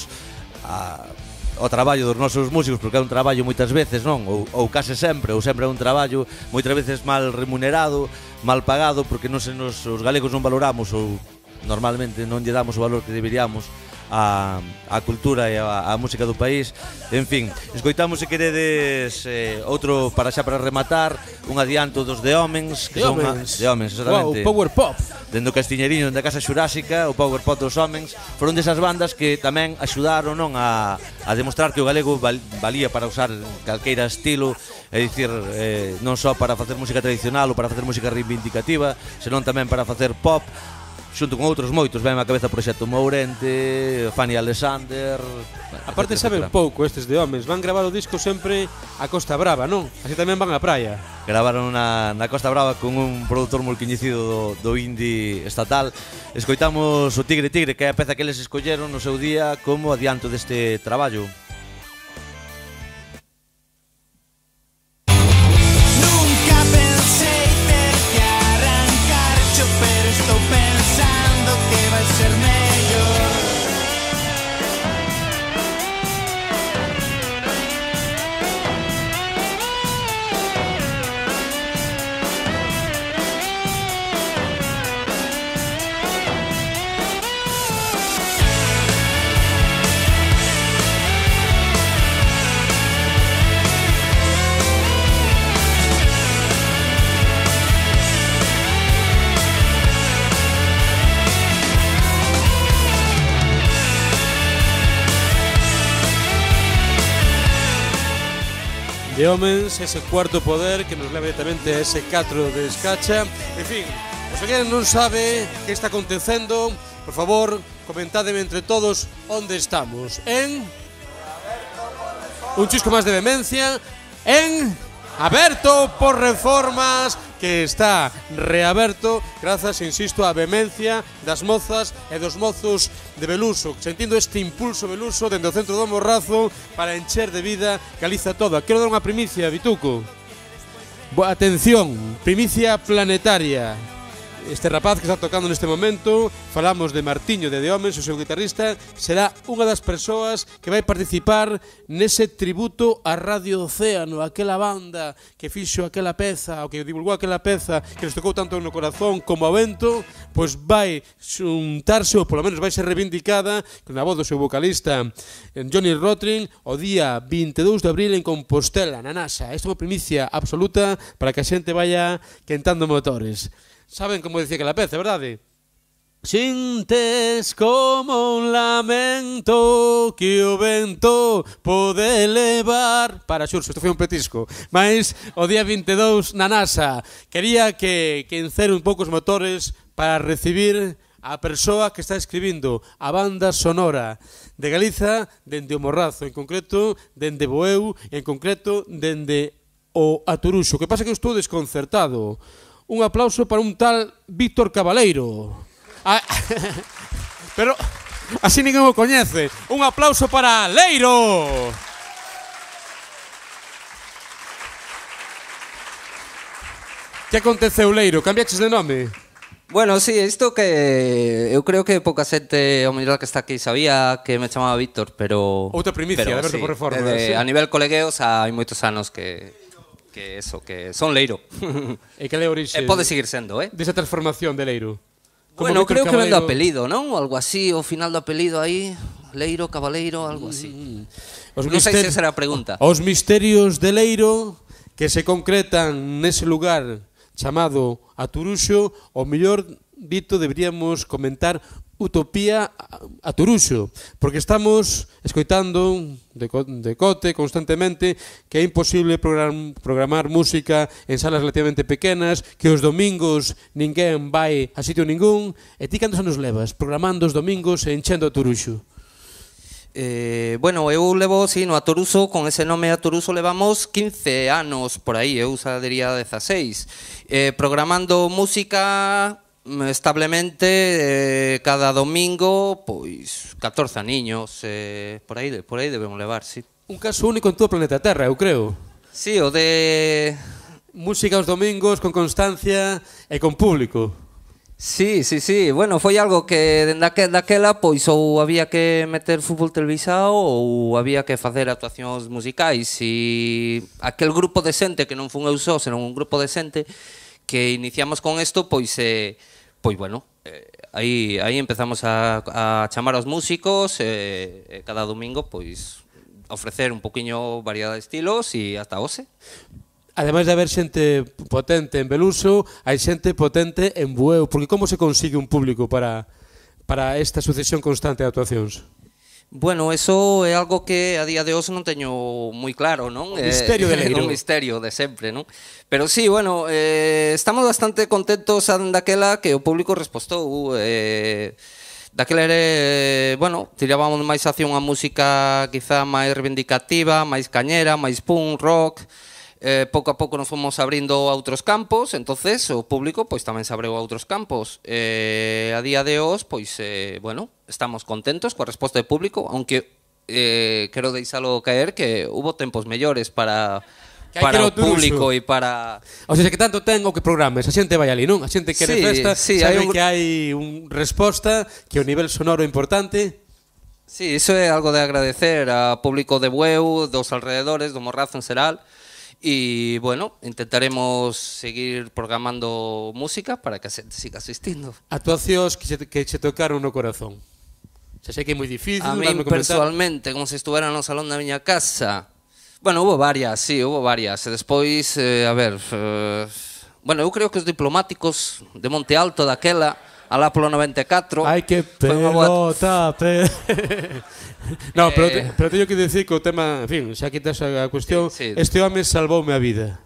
traballo dos nosos músicos, porque é un traballo moitas veces, non? Ou case sempre, ou sempre é un traballo moitas veces mal remunerado, mal pagado, porque os galegos non valoramos ou normalmente non lle damos o valor que deberíamos a cultura e a música do país. En fin, escoitamos, se queredes, outro para rematar, un adianto dos The Homens, que son The Homens, exactamente. Wow, Power Pop. Dende o Castiñeriño, dende a Casa Xurásica, o Power Pop dos Homens, foron desas bandas que tamén axudaron, non, a demostrar que o galego valía para usar calqueira estilo, é dicir, non só para facer música tradicional ou para facer música reivindicativa, senón tamén para facer pop, xunto con outros moitos. Ven á cabeza Proxecto Mourente, Fanny Alexander. Aparte saben pouco estes de Homens, van gravar o disco sempre a Costa Brava, non? Así tamén van á praia. Gravaron na Costa Brava con un produtor moi coñecido do indie estatal. Escoitamos o Tigre Tigre, que é a peza que eles escolleron no seu día como adianto deste traballo. De Homens, ese cuarto poder que nos leva directamente a ese 4 de Escacha. En fin, se alguén non sabe que está acontecendo, por favor, comentádeme entre todos onde estamos. En un chisco máis de vehemencia, en Aberto por Reformas, que está reaberto grazas, insisto, á vehemencia das mozas e dos mozos de Beluso, sentindo este impulso Beluso dende o centro do Morrazo para encher de vida Galiza toda. Quero dar unha primicia, Vituco. Atención, primicia planetaria. Este rapaz que está tocando neste momento, falamos de Martiño de Homens, o seu guitarrista, será unha das persoas que vai participar nese tributo a Radio Océano, aquela banda que fixo aquela peza, o que divulgou aquela peza que nos tocou tanto no corazón como ao vento, pois vai xuntarse, ou polo menos vai ser reivindicada na voz do seu vocalista Johnny Rotring, o día 22 de abril en Compostela, na NASA. Esta é unha primicia absoluta para que a xente vaya quentando motores. Saben como decía aquela peza, verdade? Sintes como un lamento que o vento pode levar. Para, Xurso, isto foi un petisco. Mas o día 22 na NASA quería que encere un pouco os motores para recibir a persoa que está escribindo a banda sonora de Galiza dende o Morrazo, en concreto dende Boeu, en concreto dende o Aturuxo. O que pasa que eu estou desconcertado. Un aplauso para un tal Víctor Cabaleiro. Pero así ninguén o coñece. Un aplauso para Leiro. Que aconteceu, Leiro? Cambiaches de nome? Bueno, sí, isto que eu creo que pouca xente ao mellor que está aquí sabía que me chamaba Víctor, pero outra primicia, de Aberto por Reformas. A nivel colegueos hai moitos anos que son Leiro. E que le orixe? Pode seguir sendo, desa transformación de Leiro. Bueno, creo que ven do apelido, non? Algo así, o final do apelido aí, Leiro, Cabaleiro, algo así. Non sei se será a pregunta. Os misterios de Leiro que se concretan nese lugar chamado Aturuxo, o mellor dito deberíamos comentar Utopía Aturuxo, porque estamos escoitando de cote constantemente que é imposible programar música en salas relativamente pequenas, que os domingos ninguén vai a sitio ningún. E ti cantos anos levas programando os domingos e enchendo Aturuxo? Bueno, eu levo, sí, no Atoruso, con ese nome Atoruso levamos 15 anos por aí, eu diría 16, programando música establemente cada domingo, pois 14 aniños, por aí debemos levar, sí. Un caso único en todo o planeta Terra, eu creo. Sí, o de... Música os domingos, con constancia e con público. Sí, bueno, foi algo que daquela pois ou había que meter fútbol televisado ou había que facer actuacións musicais e aquel grupo de xente que non fun eu só, senón un grupo de xente que iniciamos con isto, pois bueno, aí empezamos a chamar aos músicos cada domingo pois ofrecer un poquinho variedade de estilos e ata hoxe. Ademais de haber xente potente en Beluso, hai xente potente en Bueu, porque como se consigue un público para esta sucesión constante de actuacións? Bueno, eso é algo que a día de hoxe non teño moi claro, non? O misterio de Leiro. Un misterio de sempre, non? Pero sí, bueno, estamos bastante contentos daquela que o público respostou. Daquela era, bueno, tirábamos máis hacia unha música quizá máis reivindicativa, máis cañera, máis punk, rock. Pouco a pouco nos fomos abrindo a outros campos, entonces o público pois tamén se abreu a outros campos. A día de hoxe, pois, bueno, estamos contentos coa resposta do público, aunque quero deixalo caer que hubo tempos mellores para o público e para... O sea, que tanto ten o que programes, a xente vai ali, non? A xente quere festa, sabe que hai un resposta, que o nivel sonoro é importante. Sí, iso é algo de agradecer ao público de Bueu, dos alrededores, do Morrazo en xeral. E, bueno, intentaremos seguir programando música para que a xente siga asistindo. Actuacións que che tocaron no corazón. Xa sei que é moi difícil. A mí, personalmente, como se estuvera no salón da miña casa. Bueno, hubo varias, sí, hubo varias. E despois, a ver... Bueno, eu creo que os diplomáticos de Monte Alto daquela, alá polo 94... Ai, que pelota, No, pero teño que dicir que o tema, en fin, xa quitas a cuestión, este home salvoume a vida.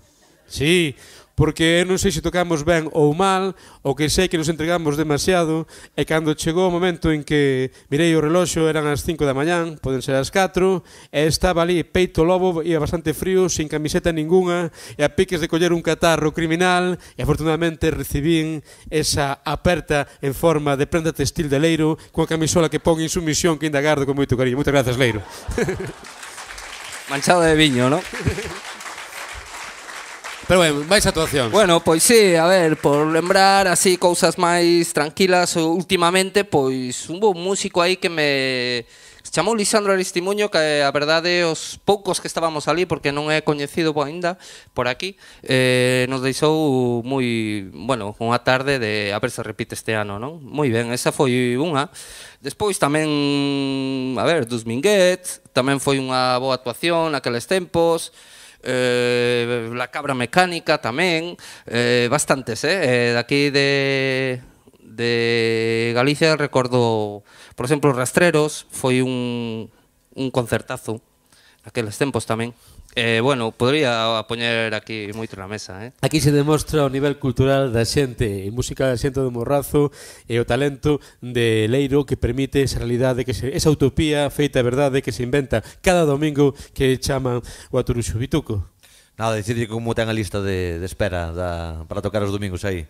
Sí, porque non sei se tocamos ben ou mal, o que sei que nos entregamos demasiado, e cando chegou o momento en que mirei o reloxo, eran as 5 da mañán, poden ser as 4, e estaba ali peito lobo, ia bastante frío, sin camiseta ninguna, e a piques de coller un catarro criminal, e afortunadamente recibín esa aperta en forma de prenda textil de Leiro, coa camisola que pon insumisión que ainda gardo con moito cariño. Moitas grazas, Leiro. Manchado de viño, non? Pero bueno, máis actuacións. Bueno, pois sí, a ver, por lembrar así cousas máis tranquilas últimamente, pois hubo un músico aí que se chamou Lisandro Aristimuño, que a verdade os poucos que estábamos ali, porque non é coñecido aínda por aquí, nos deixou moi, bueno, unha tarde de a ver se repite este ano, non? Moi ben, esa foi unha. Despois tamén, a ver, dos Minguet, tamén foi unha boa actuación naqueles tempos. La Cabra Mecánica tamén, bastantes, daqui de Galicia recordo, por exemplo, Rastreros, foi un concertazo naqueles tempos tamén. Bueno, podría poñer aquí moito na mesa. Aquí se demostra o nivel cultural da xente, e música da xente do Morrazo e o talento de Leiro que permite esa realidade, esa utopía feita verdade que se inventa cada domingo que chaman o Atoruxo. Vituco? Nada, dicirlle como ten a lista de espera para tocar os domingos aí.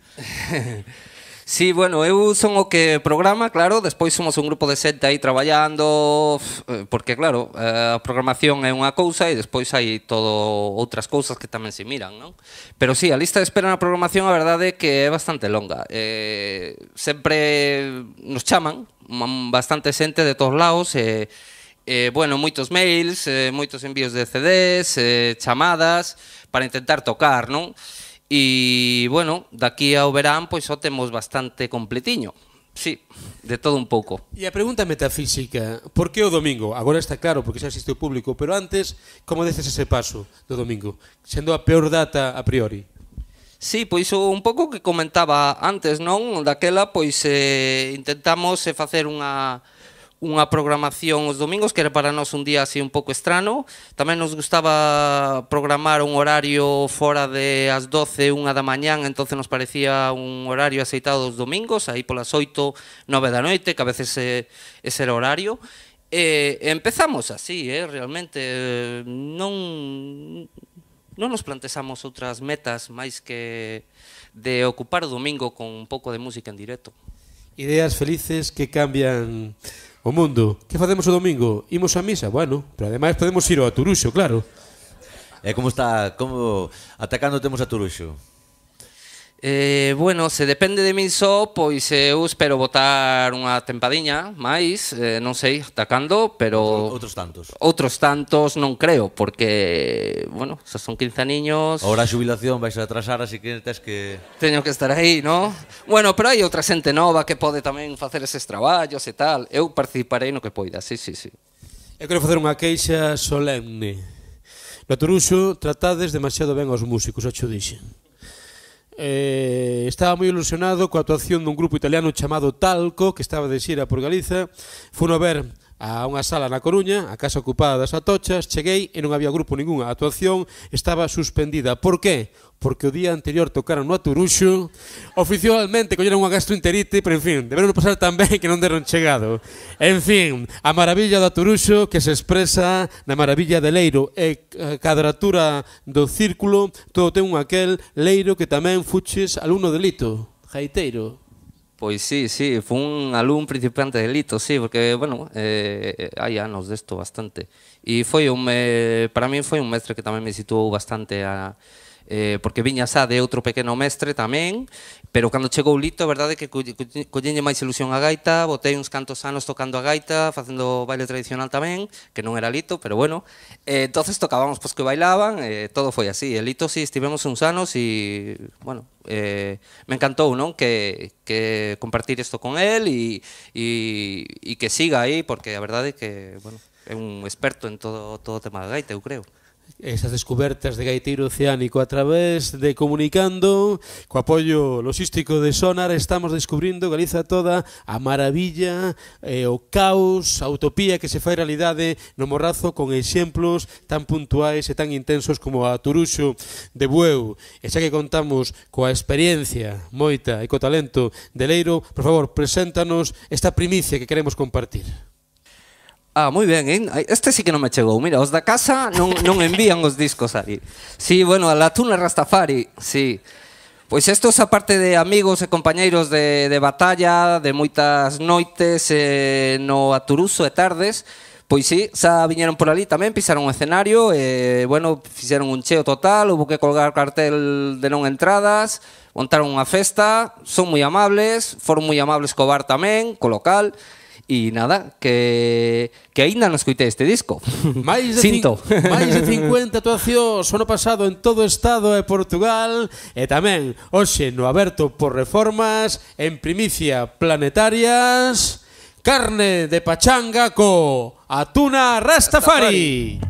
Sí, bueno, eu son o que programa, claro, despois somos un grupo de xente aí traballando, porque claro, a programación é unha cousa e despois hai todo outras cousas que tamén se miran, non? Pero sí, a lista de espera na programación a verdade é que é bastante longa. Sempre nos chaman bastante xente de todos lados e bueno, moitos mails, moitos envíos de CDs, chamadas para intentar tocar, non? E, bueno, daqui ao verán, pois só temos bastante completiño. Sí, de todo un pouco. E a pregunta metafísica, por que o domingo? Agora está claro, porque xa existe o público, pero antes, como deces ese paso do domingo? Sendo a peor data a priori. Sí, pois un pouco que comentaba antes, non? Daquela, pois intentamos facer unha programación os domingos, que era para nós un día así un pouco estrano. Tamén nos gustaba programar un horario fora de as 12, 1 da mañán, entonces nos parecía un horario aceitado dos domingos, aí polas 8, 9 da noite, que a veces ese era o horario. Empezamos así, realmente. Non nos plantexamos outras metas máis que de ocupar o domingo con un pouco de música en directo. Ideas felices que cambian o mundo. Que facemos o domingo? Imos a misa? Bueno, pero ademais podemos ir ao Aturuxo, claro. E como ata cando temos a Turuxo? Bueno, se depende de min só, pois eu espero botar unha tempadiña máis, non sei ata cando, pero... Outros tantos. Outros tantos non creo, porque, bueno, xa son 15 aniños... Ahora a xubilación vais a atrasar, así que tes que... Teño que estar aí, non? Bueno, pero hai outra xente nova que pode tamén facer eses traballos e tal. Eu participarei no que poida, sí. Eu quero facer unha queixa solemne. No Aturuxo tratades demasiado ben aos músicos, xa xo dixen. Estaba moi ilusionado coa actuación dun grupo italiano chamado Talco, que estaba de xira por Galiza. Funo ver a unha sala na Coruña, a casa ocupada das Atochas. Cheguei e non había grupo ningún. A actuación estaba suspendida. Por qué? Porque o día anterior tocaron no Aturuxo. Oficialmente colleron unha gastroenterite, pero en fin, deberon pasar tan ben que non deron chegado. En fin, a maravilla do Aturuxo que se expresa na maravilla de Leiro e a cadratura do círculo. Todo ten un aquel Leiro que tamén fuches alumno de Lito, gaiteiro. Pois sí, foi un alumno principiante de Lito, sí, porque, bueno, hai anos desto bastante. E foi para mí foi un mestre que tamén me situou bastante porque viña xa de outro pequeno mestre tamén, pero cando chegou Lito, a verdade é que collenlle máis ilusión a gaita, botei uns cantos anos tocando a gaita, facendo baile tradicional tamén, que non era Lito, pero bueno, entonces tocábamos pois que bailaban, todo foi así. E Lito sí, estivemos uns anos e, bueno, me encantou, non? Que compartir isto con él e que siga aí, porque a verdade é que, bueno, é un experto en todo o tema da gaita, eu creo. Esas descubertas de gaiteiro oceánico a través de Comunicando, co apoio logístico de Sonar, estamos descubrindo Galiza toda, a maravilla, o caos, a utopía que se fai realidade no Morrazo, con exemplos tan puntuais e tan intensos como a Aturuxo de Bueu. E xa que contamos coa experiencia moita e co talento de Leiro, por favor, preséntanos esta primicia que queremos compartir. Moi ben, este sí que non me chegou. Mira, os da casa non envían os discos aí. Sí, bueno, a la Tuna Rastafari, sí. Pois estos, aparte de amigos e compañeiros de batalla, de moitas noites no Aturuxo e tardes, pois sí, xa viñeron por ali tamén, pisaron o escenario, e, bueno, fixeron un cheo total, houve que colgar cartel de non entradas, montaron unha festa, son moi amables, foron moi amables co bar tamén, co local. E nada, que aínda non escoitei este disco. Máis de 50 actuacións o ano pasado en todo o Estado e Portugal, e tamén hoxe no aberto por Reformas, en primicia Planetarias, carne de pachanga co Atuna Rastafari.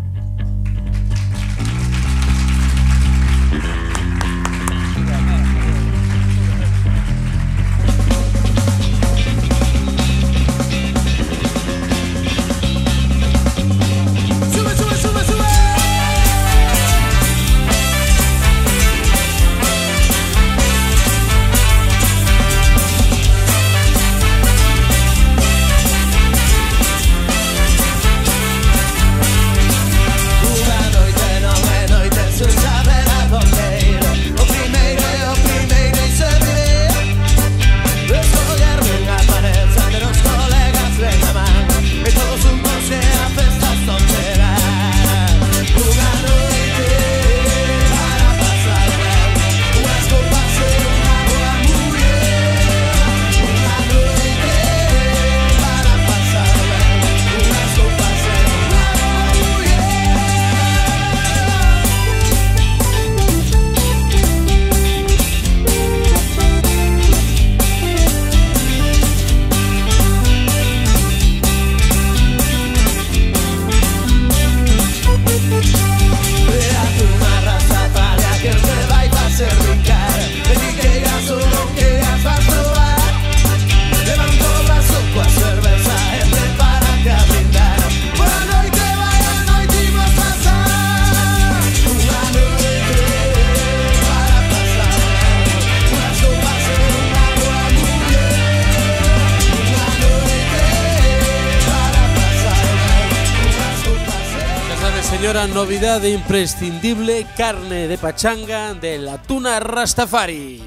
señora, novidade imprescindible, carne de pachanga de la tuna Rastafari.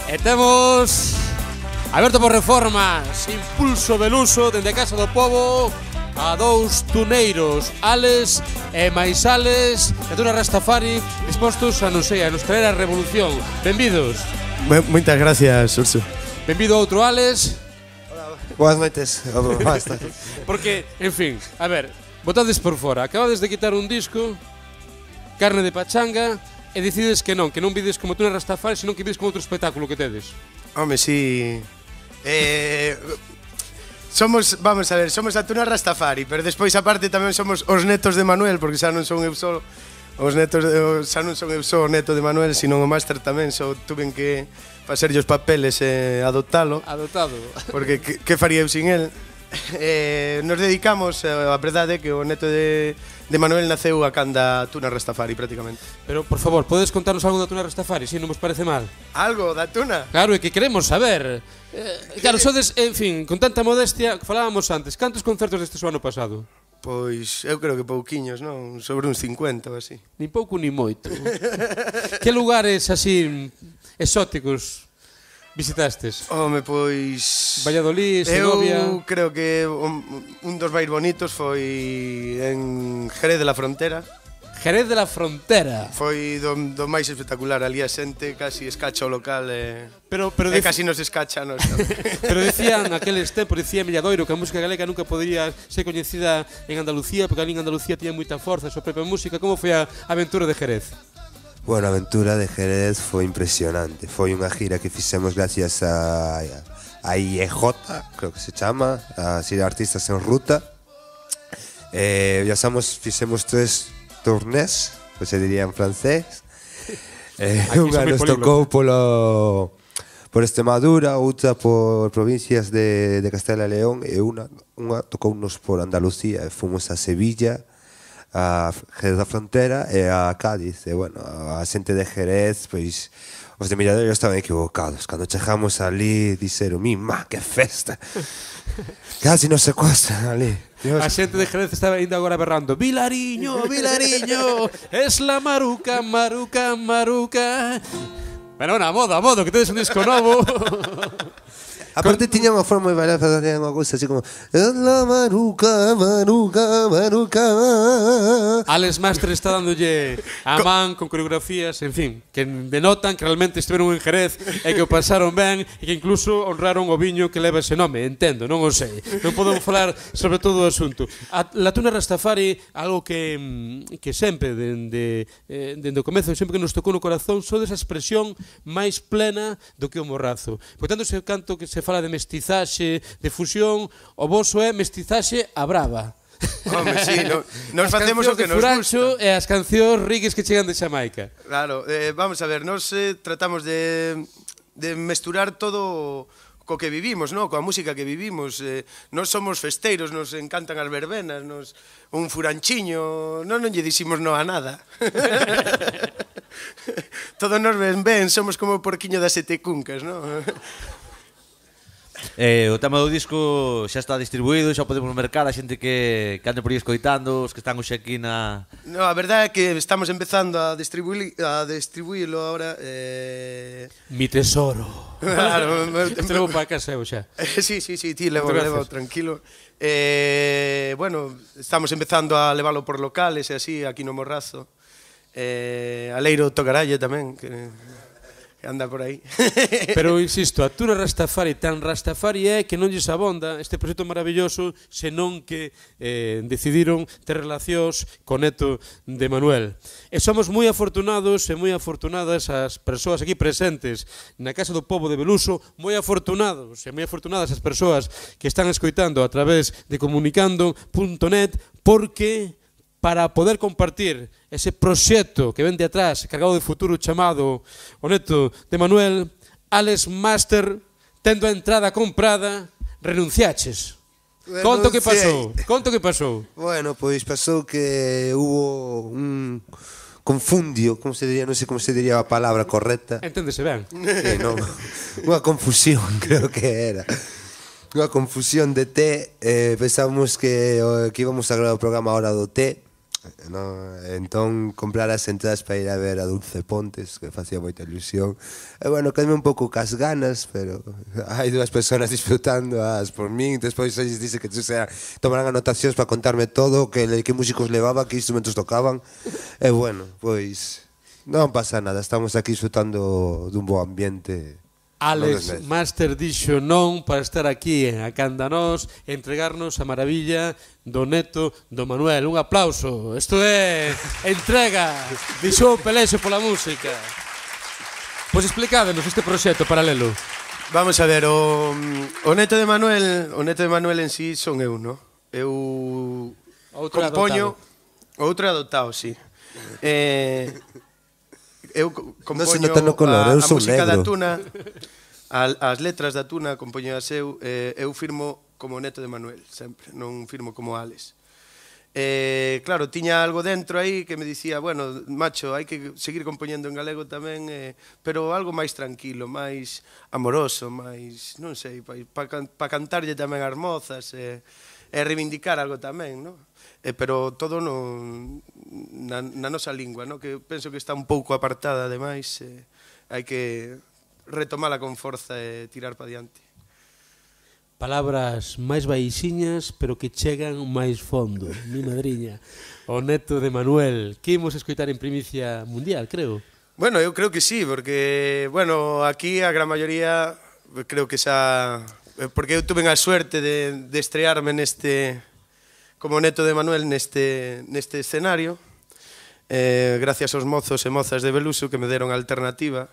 E temos aberto por reformas, impulso Beluso dende a Casa do Pobo a dous tuneiros, Ales e máis Ales de tuna Rastafari, dispostos a, non sei, a nos traer a revolución. Benvidos. Moitas gracias, Urso. Benvido a outro Ales. Boas noites. Basta. Porque, en fin, a ver, botades por fora, acabades de quitar un disco, carne de pachanga, e decides que non vides como tuna Rastafari, senón que vides como outro espectáculo que tedes. Home, sí. Vamos a ver, somos a tuna Rastafari, pero despois aparte tamén somos os netos de Manuel, porque xa non son eu só os netos, xa non son eu só o neto de Manuel, sino o máster tamén, só tuven que facerlle os papeles e adoptalo. Adoptado. Porque que faría eu sin el? Nos dedicamos, a verdade que o neto de Manuel naceu a canda tuna Rastafari prácticamente. Pero, por favor, podes contarnos algo da tuna Rastafari, se non vos parece mal? Algo da tuna? Claro, é que queremos saber. Claro, sodes, en fin, con tanta modestia, falábamos antes, cantos concertos deste o ano pasado? Pois, eu creo que pouquiños, non? Sobre uns 50 ou así. Ni pouco ni moito. Que lugares así exóticos visitastes? Home, pois... Valladolid, Segovia... Eu creo que un dos máis bonitos foi en Jerez de la Frontera. Jerez de la Frontera. Foi do máis espectacular, ali a xente casi escacha o local pero casi nos escacha nos. Pero decían aqueles tempos, decía Milladoiro que a música galega nunca podría ser coñecida en Andalucía, porque ali en Andalucía tiña moita forza a súa propia música. Como foi a aventura de Jerez? Bueno, a aventura de Jerez foi impresionante. Foi unha gira que fixemos gracias a IEJ, creo que se chama, a Xira Artistas en Ruta. Fixemos 3 tournés, pues se diría en francés. Unha nos tocou por Extremadura, outra por provincias de Castela e León e unha tocounos por Andalucía. Fomos a Sevilla, a Jerez da Frontera e a Cádiz. E, bueno, a xente de Jerez, pois, os de Milladoiro estaban equivocados. Cando chegamos ali, dixeron, mima, que festa! Casi nos secuestran ali. Dios. A xente de Jerez estaba ainda agora berrando Vilariño, Vilariño, es la maruca, maruca, maruca. Pero na moda, que tedes un disco novo. Aparte tiña unha forma de bailar, facía unha cousa así como la maruca, maruca, maruca. Alex Master está dándolle a man con coreografías, en fin, que denotan que realmente estiveron en Jerez e que o pasaron ben e que incluso honraron o viño que leva ese nome, entendo, non o sei. Non podemos falar sobre todo o asunto. La tuna Rastafari, algo que sempre, dende o comezo, sempre que nos tocou no corazón, son desa expresión máis plena do que o morrazo. Por tanto, ese canto que se fala de mestizaxe, de fusión, o voso é mestizaxe a brava. Home, sí, nos facemos o que nos gusta. E as cancións rigues que chegan de Xamaica. Claro, vamos a ver, nos tratamos de mesturar todo co que vivimos, no? Coa música que vivimos. Nos somos festeiros, nos encantan as verbenas, un furanchiño, non lle diximos no a nada. Todos nos ven ben, somos como o porquiño das sete cuncas, non? O tema do disco xa está distribuído, xa podemos mercar a xente que ande por aí escoitando, os que están hoxe aquí na... No, a verdade é que estamos empezando a distribuílo ahora. Mi tesoro. Claro. Este levo para casa eu xa. Sí, ti levo tranquilo. Bueno, estamos empezando a leválo por locales e así, aquí no Morrazo. Aleiro Tocaralle tamén, que anda por aí. Pero insisto, a tuna Rastafari tan Rastafari é que non lles abonda este proxecto maravilloso, senón que decidiron ter relacións con neto de Manuel. E somos moi afortunados e moi afortunadas as persoas aquí presentes na Casa do Pobo de Beluso, moi afortunados e moi afortunadas as persoas que están escoitando a través de comunicando.net, porque para poder compartir ese proxecto que ven de atrás, cargado de futuro, chamado o neto de Manuel, Alex Master, tendo a entrada comprada, renunciaches. Conto que pasou. Bueno, pois pasou que hubo un confundio, como se diría, non sei como se diría a palabra correcta. Enténdese ben. Non, unha confusión, creo que era. Unha confusión de té, pensábamos que íbamos a gravar o programa a hora do té, Entón comprar as entradas para ir a ver a Dulce Pontes, que facía moita ilusión. E bueno, quedame un pouco cas ganas, pero hai dúas persoas disfrutando por min. Despois eles dice que tomarán anotacións para contarme todo, que músicos levaba, que instrumentos tocaban. E bueno, pois non pasa nada, estamos aquí disfrutando dun bo ambiente. Alex Master dixo non para estar aquí a canda nós e entregarnos a maravilla do neto do Manuel. Un aplauso. Isto é entrega de Xoão Pelexo pola música. Pois explicádenos este proxecto paralelo. Vamos a ver, o neto de Manuel en sí son eu, no? Eu compoño... Outro adoptado, sí. Eu compoño a música da Tuna, as letras da Tuna compoño as eu firmo como neto de Manuel, sempre, non firmo como Alex. Claro, tiña algo dentro aí que me dicía, bueno, macho, hai que seguir compoñendo en galego tamén, pero algo máis tranquilo, máis amoroso, máis, non sei, para cantarlle tamén as mozas e reivindicar algo tamén, non? Pero todo na nosa lingua, no? Que penso que está un pouco apartada, ademais, hai que retomala con forza e tirar para diante. Palabras máis baixiñas, pero que chegan máis fondo. Mi madriña, o neto de Manuel, que imos escoitar en primicia mundial, creo. Bueno, eu creo que sí, porque, bueno, aquí a gran maioría, creo que xa... Porque eu tuve a suerte de estrearme como neto de Manuel neste escenario, gracias aos mozos e mozas de Beluso que me deron a alternativa.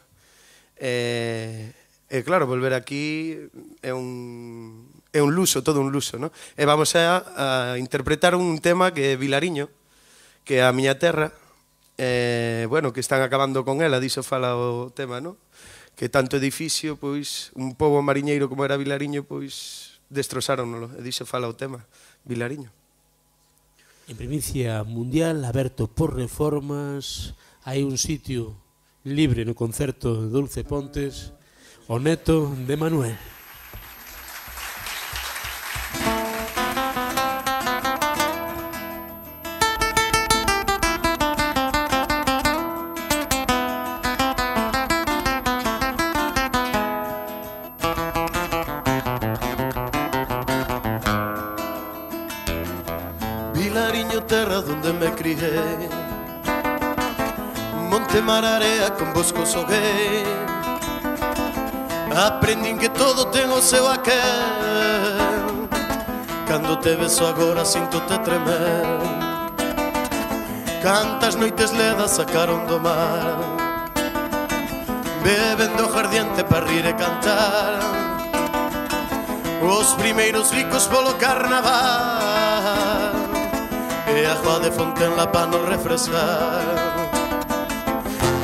Claro, volver aquí é un luso, todo un luso, no? E vamos a interpretar un tema que é Vilariño, que é a miña terra, bueno, que están acabando con ela, diso fala o tema, no? Que tanto edificio, pois, un pobo mariñeiro como era Vilariño, pois, destrozáronolo, e diso fala o tema, Vilariño. En primicia mundial, aberto por reformas, hai un sitio libre no concerto de Dulce Pontes, o neto de Manuel. Vilariño, terra donde me crié, monte, mar, area, con bosco soguei. Aprendín que todo ten o seu aquel. Cando te beso agora sinto-te tremer. Cantas noites ledas sacaron do mar, bebendo aguardiente para rir e cantar. Os primeiros bicos polo carnaval e agua de fontenla para nos refrescar.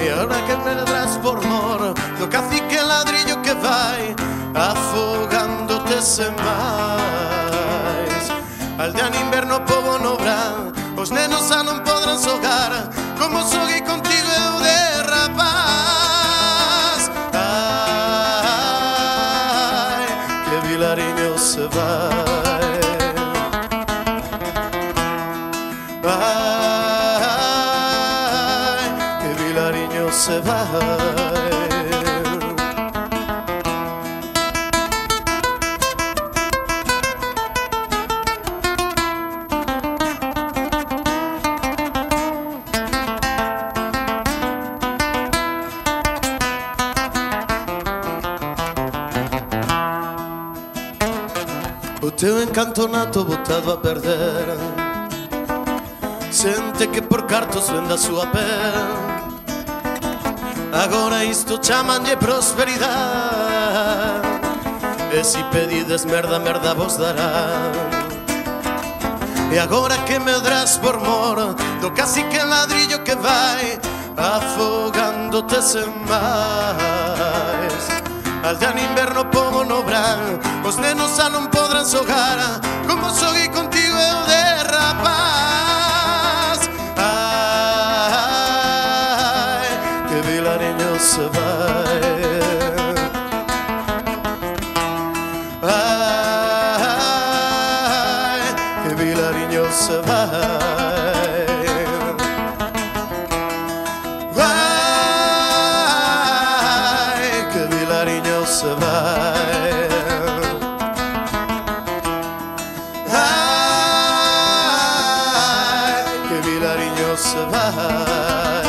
E ahora que me ladras por mor do cacique ladrillo que vai afogándote sen máis. Aldea en inverno, pobo no verán, os nenos xa non podrán xogar como xoguei contigo eu de rapaz. Ai, que Vilariño se vai. Ai, que Vilariño se vai. O teu encanto nato botado a perder, sente que por cartos vende a súa pel. Agora isto chamanlle prosperidade, e si pedides merda, merda vos dará. E agora que me drás por mor do cacique ladrillo que vai afogándote sen máis. Aldea en inverno, pobo no verán, os nenos xa non podrán xogar como xoguei contigo eu de rapaz. Ai, que Vilariño se vai. Ai, que Vilariño se vai. se vai,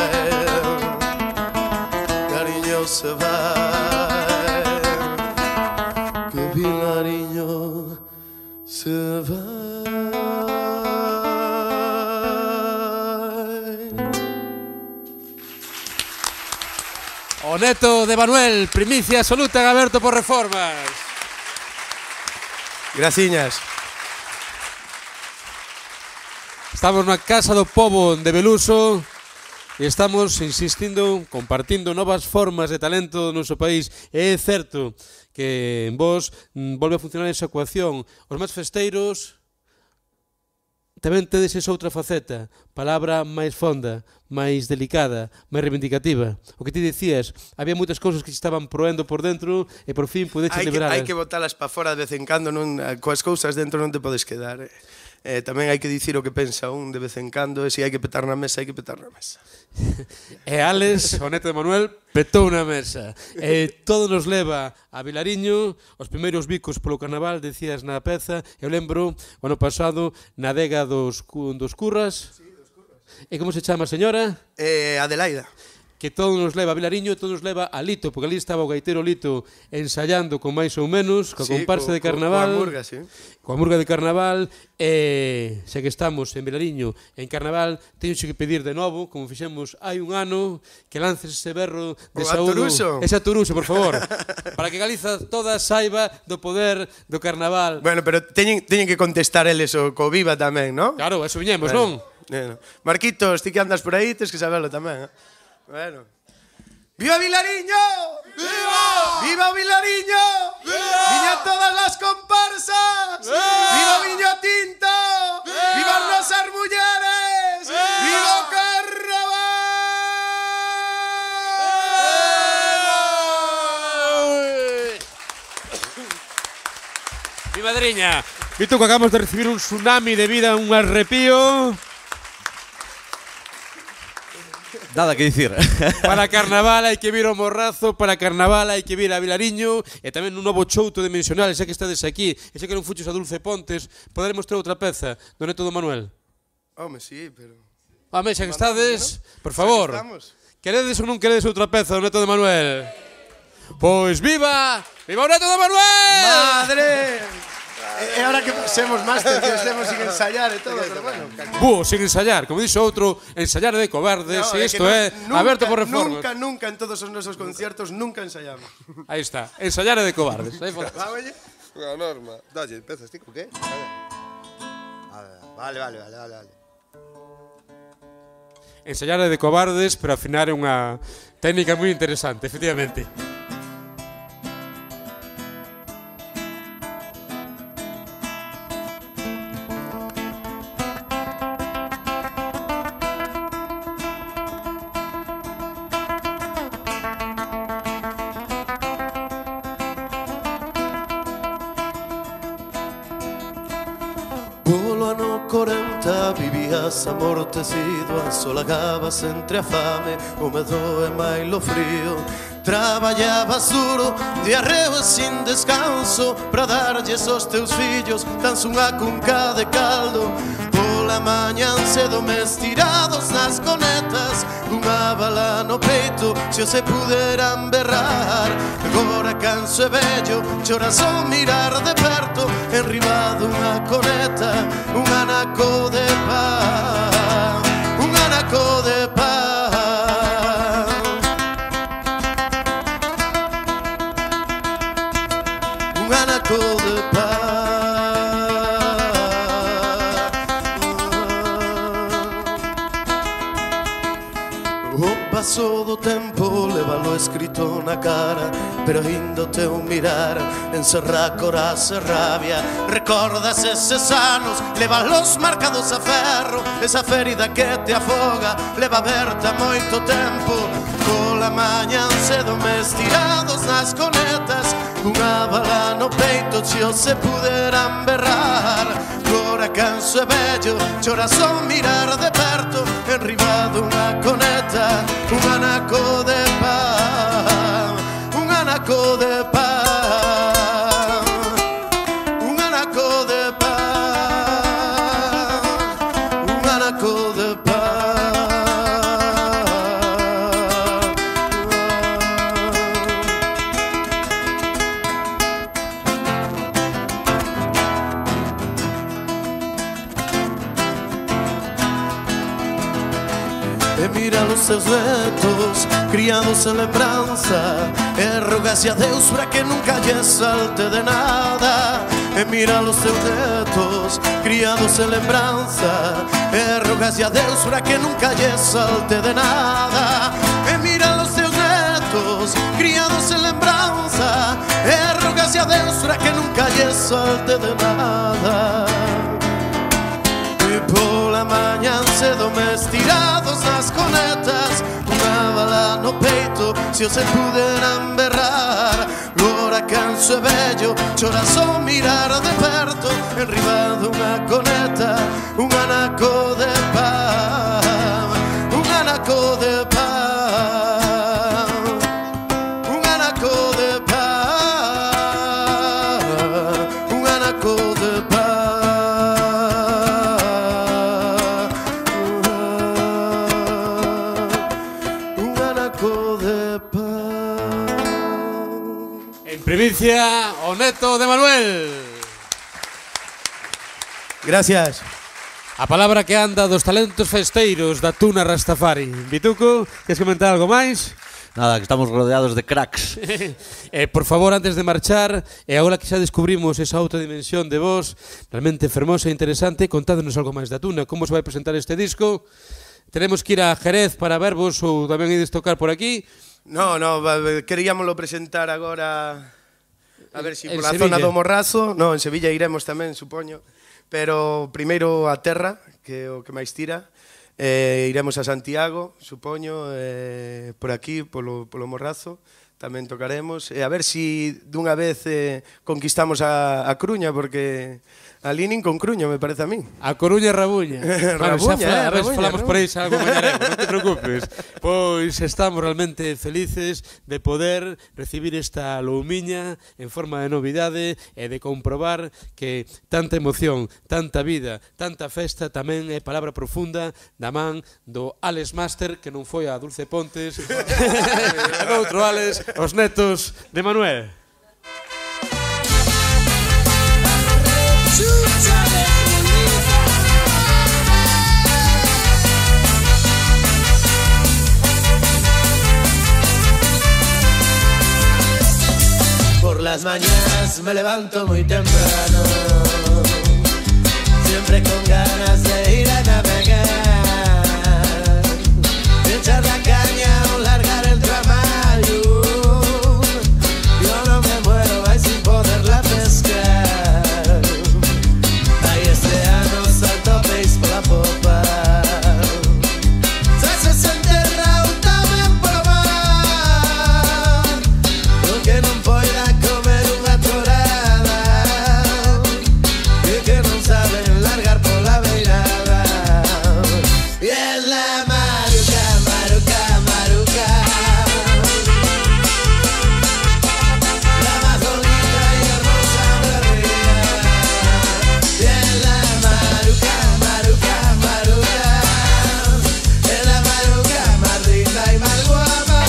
cariño se vai, que Vilariño se vai. O neto de Manuel, primicia absoluta en Aberto por Reformas. Graciñas. Estamos na Casa do Pobo de Beluso e estamos insistindo, compartindo novas formas de talento do noso país. E é certo que en vos volve a funcionar esa ecuación. Os máis festeiros tamén tedes esa outra faceta, palabra máis fonda, máis delicada, máis reivindicativa. O que ti dicías, había moitas cousas que se estaban proendo por dentro e por fin podeches liberalas. Hai que botalas para fora de vez en cando, coas cousas dentro non te podes quedar. Tamén hai que dicir o que pensa un de vez en cando, e se hai que petar na mesa, hai que petar na mesa. E Alex, o neto de Manuel, petou na mesa. E todo nos leva a Vilariño, os primeiros bicos polo carnaval, decías na peza. Eu lembro, o ano pasado, na adega dos Curras. Sí, dos Curras. E como se chama a señora? Adelaida. Que todo nos leva a Vilariño e todo nos leva a Lito, porque ali estaba o gaiteiro Lito ensayando con máis ou menos, coa comparsa de carnaval. Coa murga, sí. Coa murga de carnaval, e xa que estamos en Vilariño en carnaval, teño que pedir de novo, como fixemos hai un ano, que lances ese berro de saúdo. Ese aturuso, por favor. Para que Galiza toda saiba do poder do carnaval. Bueno, pero teñen que contestar eles o co viva tamén, non? Claro, eso viñemos, non? Marquitos, ti que andas por aí, tens que saberlo tamén, Bueno. ¡Viva Vilariño! ¡Viva! ¡Viva Vilariño! ¡Viva! ¡Viña todas las comparsas! ¡Viva! ¡Viva Viño Tinto! ¡Viva! ¡Viva Rosas Mulleres! ¡Viva! ¡Viva o Carnaval! Mi madriña, Vito, que acabamos de recibir un tsunami de vida, un arrepío. Nada que dicir. Para carnaval hai que vir ao Morrazo, para carnaval hai que vir a Vilariño e tamén un novo chouto dimensional, xa que estades aquí, e xa que non fuches a Dulce Pontes, poderemos ter outra peza do neto do Manuel. Home, sí, pero... Home, xa que estades, por favor, queredes ou non queredes outra peza do neto de Manuel? Pois viva! Viva o neto de Manuel! Madre! E ahora que pasemos máster, que estemos sin ensayar e todo, pero bueno. Sin ensayar, como dixo outro, ensayar de cobardes, e isto é Aberto por Reformas. Nunca en todos os nosos conciertos, nunca ensayamos. Aí está, ensayar de cobardes. Unha norma. Dalle, empezas ti, co que? Vale. Ensayar de cobardes, pero afinar é unha técnica moi interesante, efectivamente. Polo ano 40 vivías amortecido, asolagabas entre a fame, o medo e mailo frío. Traballabas duro, de arreo e sin descanso, para darlles aos teus fillos tan unha cunca de caldo. Pola mañan cedo mes tirados nas conetas, unha bala no peito, se o se puderan berrar. Agora canso e vello, choras ao mirar de perto, enriba dunha coneta, un anaco de pan, un anaco de pan. Un anaco de O paso do tempo levalo escrito na cara, pero ainda o teu mirar encerra coraxe e rabia. Recordas eses anos, levalos marcados a ferro, esa ferida que te afoga, leva aberta moito tempo. Pola mañan cedo mes tirados nas conetas, unha bala no peito, se o se puderan berrar. Agora canso e vello, choras ao mirar de perto, enriba dunha coneta, un anaco de pan, un anaco de pan, un anaco de pan, un anaco de pan. e mira os seus netos criados en lembranza, e rogase a Deus para que nunca lle salte de nada. E mira os seus netos criados en lembranza, e rogase a Deus para que nunca lle salte de nada. E mira os seus netos criados en lembranza, e rogase a Deus para que nunca lle salte de nada. E pola mañan cedo mes tirados nas conetas, unha bala no peito se os puderan berrar. Agora canso e vello, chora só mirar de perto, enriba dunha coneta, un anaco de pan, un anaco de pan, un anaco de pan, un anaco de pan, un anaco de pan. En primicia, o neto de Manuel. Gracias. A palabra que anda dos talentos festeiros da Tuna Rastafari. Bituco, queres comentar algo máis? Nada, que estamos rodeados de cracks. Por favor, antes de marchar, e agora que xa descubrimos esa outra dimensión de vos, realmente fermosa e interesante, contádnos algo máis da Tuna. Como se vai presentar este disco? Tenemos que ir a Jerez para vervos ou tamén ides tocar por aquí? No, queríamoslo presentar agora, a ver si pola Sevilla. zona do Morrazo. No, en Sevilla iremos tamén, supoño. Pero primeiro a terra, que é o que máis tira. Iremos a Santiago, supoño, por aquí, polo Morrazo. Tamén tocaremos. E a ver si dunha vez conquistamos a Coruña, porque ali nin con Cruña, me parece a min. A Coruña e Rabuña. Rabuña, A ver, Rabuña, falamos ¿no? por aí xa algo mañaremos, non te preocupes. Pois estamos realmente felices de poder recibir esta loumiña en forma de novidade e de comprobar que tanta emoción, tanta vida, tanta festa tamén é palabra profunda da man do Alex Master, que non foi a Dulce Pontes, e do outro Alex, os netos de Manuel. Por las mañanas me levanto muy temprano, siempre con ganas de ir a navegar, de echar la caña o largar el tramallo. Yo no me muero ahí sin poderla pescar. Ahí este ano salto peix por la popa. Se enterra tamén probar, porque non poida comer unha torada, e que non saben largar pola beirada. E es la maruca, maruca, maruca, la más bonita y hermosa de ría. Y es la maruca, maruca, maruca, es la maruca más rica y más guapa.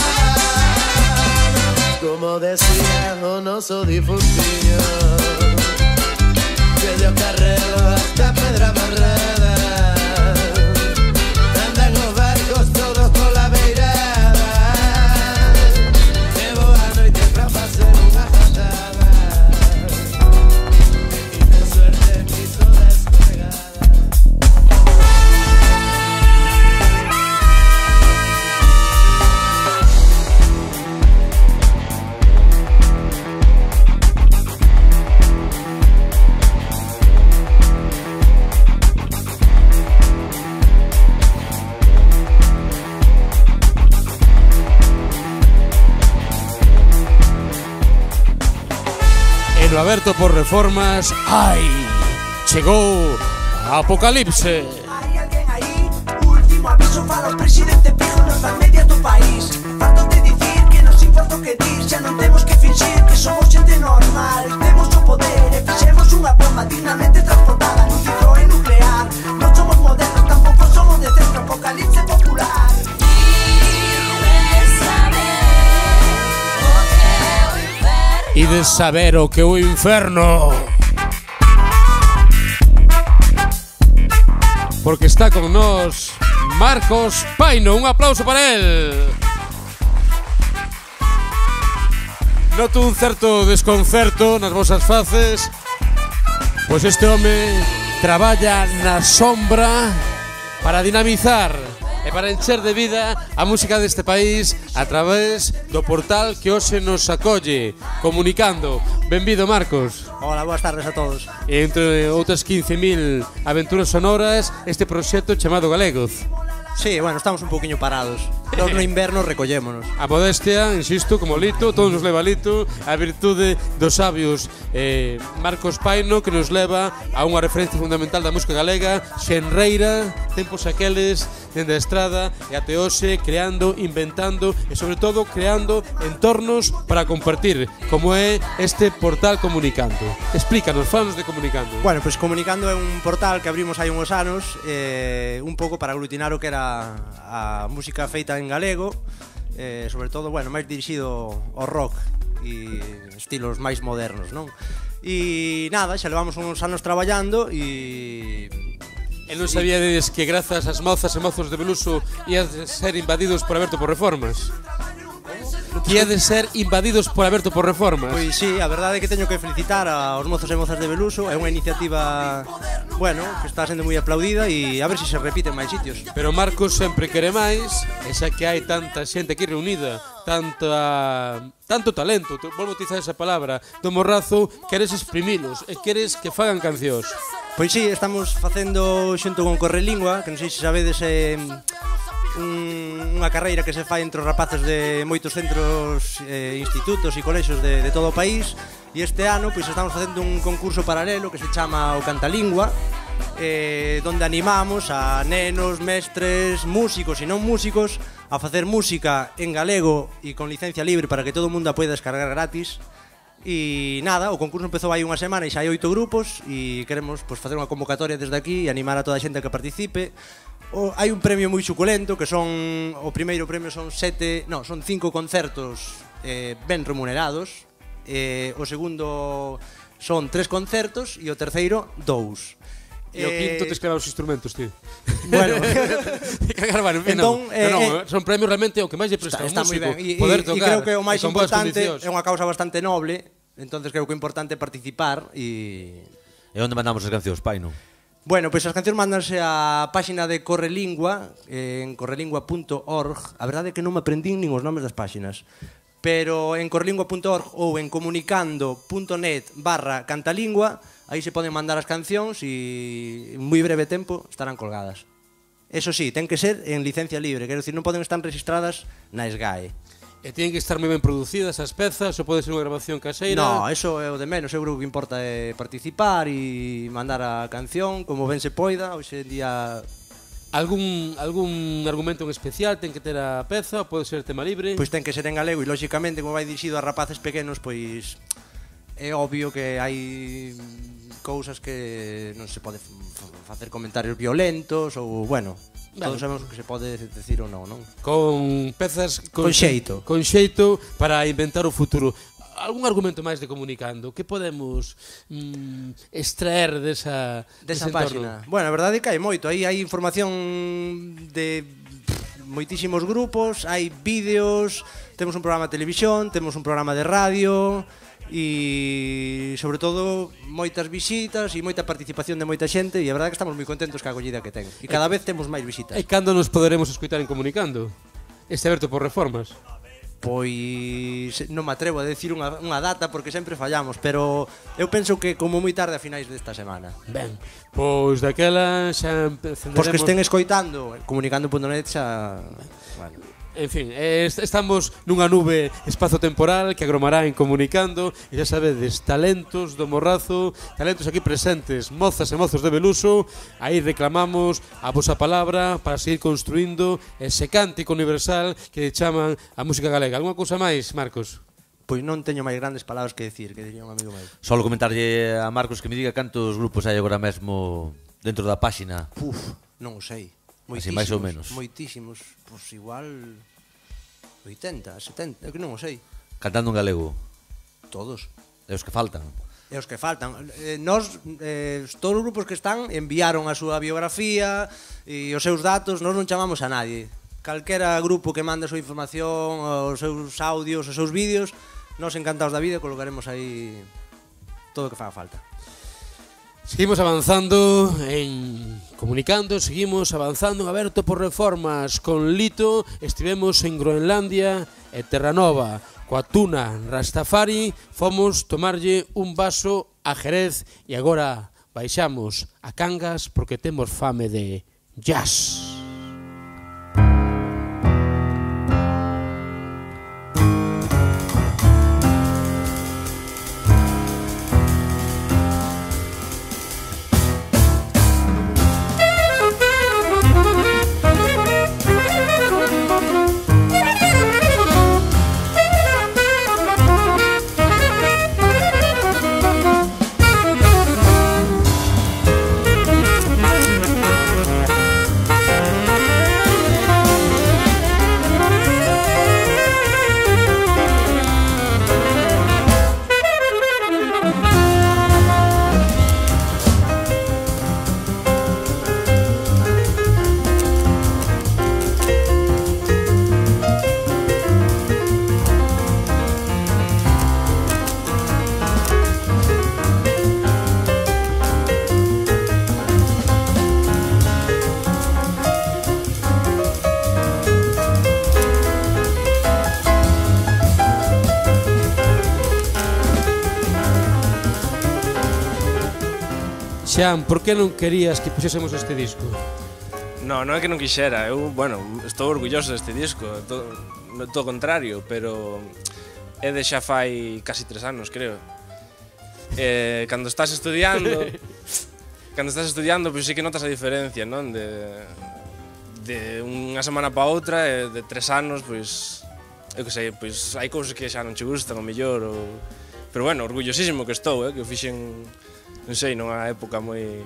Como decía o noso difuntiño, desde o Carrero hasta Pedra Amarrada, andan os barcos todos pola beirada. E boa noite pra facer unha patada, e tiven suerte quiso despegada. E no aberto por reformas, ai, chegou a Apocalipse. Hai alguén aí, último aviso para o presidente Pijo nos da media do país. Farto de dicir que nos importa o que dir, xa non temos que fingir que somos xente normal. Temos o poder e fixemos unha bomba dignamente transportada nun Citroën nuclear. Non somos modernos, tampouco somos de centro, Apocalipse popular. Ides saber o que é o inferno. Porque está con nós Marcos Paino, un aplauso para él. Noto un certo desconcerto nas vosas faces, pois este home traballa na sombra para dinamizar e para encher de vida a música deste país a través do portal que hoxe nos acolle, Comunicando. Benvido, Marcos. Hola, boas tardes a todos. E entre outras 15.000 aventuras sonoras, este proxecto chamado Galegos. Sí, bueno, estamos un poquinho parados. No inverno recollémonos. A modestia, insisto, como Lito, todos nos leva Lito, a virtude dos sabios Marcos Paino, que nos leva a unha referencia fundamental da música galega, xenreira, tempos aqueles, dende a estrada e até hoxe, creando, inventando e sobre todo creando entornos para compartir, como é este portal Comunicando. Explícanos, falanos de Comunicando. Bueno, pues Comunicando é un portal que abrimos hai uns anos, un pouco para aglutinar o que era a música feita en galego, sobre todo, bueno, máis dirixido ao rock e estilos máis modernos, non? E nada, xa levamos uns anos traballando e non sabíades que grazas ás mozas e mozos de Beluso iades ser invadidos por Aberto por Reformas? Que iades ser invadidos por Aberto por Reformas? Pois sí, a verdade é que teño que felicitar aos mozos e mozas de Beluso. É unha iniciativa, bueno, que está sendo moi aplaudida e a ver se repite en máis sitios. Pero Marcos sempre quere máis, e xa que hai tanta xente aquí reunida, tanto talento, volvo a utilizar esa palabra, do morrazo, queres exprimilos e queres que fagan cancións. Pois sí, estamos facendo xunto con Correlingua, que non sei se sabedes unha carreira que se fai entre os rapaces de moitos centros, institutos e colexios de todo o país, e este ano pois estamos facendo un concurso paralelo que se chama o Cantalingua, donde animamos a nenos, mestres, músicos e non músicos a facer música en galego e con licencia libre para que todo o mundo a poida descargar gratis. E nada, o concurso empezou hai unha semana e xa hai 8 grupos e queremos pois facer unha convocatoria desde aquí e animar a toda a xente que participe. Hai un premio moi suculento que son, o primeiro premio son 5 concertos ben remunerados, o segundo son 3 concertos e o terceiro 2. E o quinto te escreva os instrumentos, tío. Bueno, entón, son premios realmente o que máis lle presta ao músico, poder tocar. E creo que o máis importante é unha causa bastante noble, entonces creo que é importante participar e onde mandamos as cancións, Paino? Bueno, pois as cancións mandanse á páxina de Correlingua, en correlingua.org. A verdade é que non me aprendín nin os nomes das páxinas, pero en correlingua.org ou en comunicando.net/cantalingua, aí se poden mandar as cancións e en moi breve tempo estarán colgadas. Eso sí, ten que ser en licencia libre, quero dicir, non poden estar registradas na SGAE. E tienen que estar moi ben producidas as pezas, ou pode ser unha grabación caseira? No, eso é o de menos, eu creo que importa é participar e mandar a canción como ben se poida. Hoxe en día algún argumento en especial ten que ter a peza ou pode ser tema libre? Pois ten que ser en galego e lóxicamente como vai dirixido a rapaces pequenos, pois é obvio que hai cousas que non se pode facer comentarios violentos ou, bueno, todos sabemos que se pode decir ou non, non? Con pezas con xeito. Con xeito para inventar o futuro. Algún argumento máis de Comunicando? Que podemos extraer desa páxina? Bueno, a verdade é que hai moito. Aí hai información de moitísimos grupos, hai vídeos, temos un programa de televisión, temos un programa de radio e sobre todo moitas visitas e moita participación de moita xente e a verdade é que estamos moi contentos ca acollida que ten e cada vez temos máis visitas. E cando nos poderemos escoitar en Comunicando? Este Aberto por Reformas? Pois non me atrevo a decir unha data porque sempre fallamos, pero eu penso que como moi tarde a finais desta semana. Ben, pois daquela xa encenderemos... Pois que estén escoitando, comunicando.net xa... Bueno. En fin, estamos nunha nube espazo-temporal que agromará en Comunicando e xa sabedes, talentos do morrazo, talentos aquí presentes, mozas e mozos de Beluso. Aí reclamamos a vosa palabra para seguir construindo ese cántico universal que chaman a música galega. Alguna cousa máis, Marcos? Pois non teño máis grandes palabras que decir, que diría un amigo meu. Só comentarlle a Marcos que me diga cantos grupos hai agora mesmo dentro da páxina. Non o sei. Así máis ou menos. Moitísimos, pois igual 80, 70, que non o sei. Cantando en galego? Todos. E os que faltan? E os que faltan. Nos, todos os grupos que están enviaron a súa biografía e os seus datos, nos non chamamos a nadie. Calquera grupo que mande a súa información, os seus audios, os seus vídeos, nos encantados da vida colocaremos aí todo o que faga falta. Seguimos avanzando comunicando, seguimos avanzando en Aberto por Reformas con Lito. Estivemos en Groenlandia e Terranova coa Tuna Rastafari, fomos tomarlle un vaso a Jerez e agora baixamos a Cangas porque temos fame de jazz. Xan, por que non querías que puxésemos este disco? Non é que non quixera, eu, bueno, estou orgulloso deste disco, todo o contrario, pero é de xa fai casi 3 anos, creo. Cando estás estudiando, pois sí que notas a diferencia, non? De unha semana pa outra, de 3 anos, pois, eu que sei, pois hai cousas que xa non che gustan, o mellor, pero bueno, orgullosísimo que estou, que o fixen, non sei, nunha época moi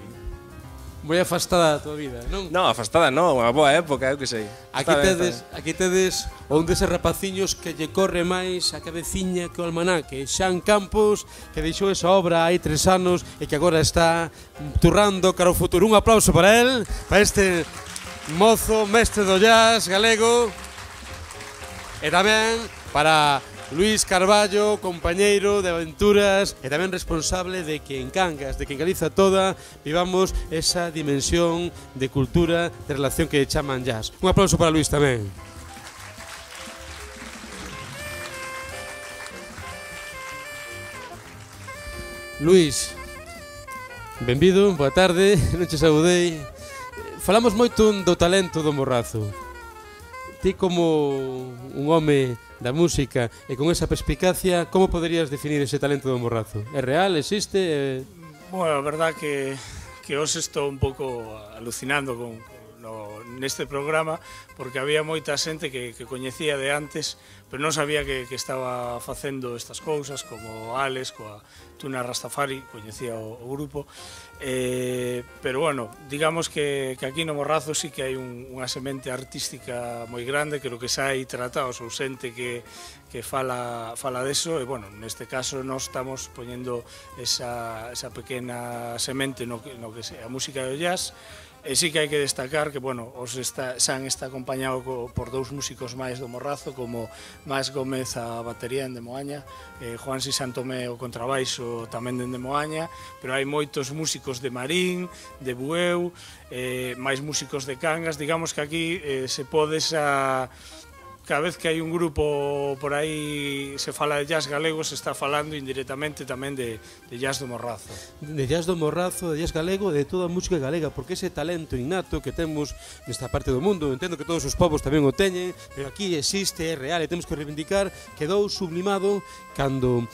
afastada da tua vida, non? Non, afastada non, unha boa época, eu que sei. Aquí tedes un deses rapaciños que lle corre máis a cabeciña que o almanaque, Xan Campos, que deixou esa obra hai 3 anos e que agora está turrando cara ao futuro. Un aplauso para el, para este mozo, mestre do jazz galego, e tamén para Luís Carballo, compañeiro de aventuras e tamén responsable de que en Cangas, de que en Galiza toda vivamos esa dimensión de cultura, de relación que chaman jazz. Un aplauso para Luís tamén. Luís, benvido, boa tarde, non che saudei. Falamos moito do talento do Morrazo. Ti como un home da música e con esa perspicacia, como poderías definir ese talento do Morrazo? É real, existe? Bueno, a verdad que hoxe estou un pouco alucinando neste programa porque había moita xente que coñecía de antes, pero non sabía que estaba facendo estas cousas, como Alex, coa Tuna Rastafari, coñecía o grupo, pero bueno, digamos que aquí no Morrazo sí que hai unha semente artística moi grande, creo que xa hai tratados ou xente que fala deso, e bueno, neste caso nós estamos poñendo esa pequena semente no que é a música do jazz. E sí que hai que destacar que, bueno, Xan está acompañado por 2 músicos máis do Morrazo, como Mas Gómez a batería en Demoaña, Juansi Santomé o contrabaixo tamén en Demoaña, pero hai moitos músicos de Marín, de Bueu, máis músicos de Cangas. Digamos que aquí se pode cada vez que hai un grupo por aí se fala de jazz galego, se está falando indirectamente tamén de jazz do Morrazo. De jazz do Morrazo, de jazz galego, de toda a música galega, porque ese talento innato que temos nesta parte do mundo, entendo que todos os povos tamén o teñen, pero aquí existe, é real, e temos que reivindicar, quedou sublimado cando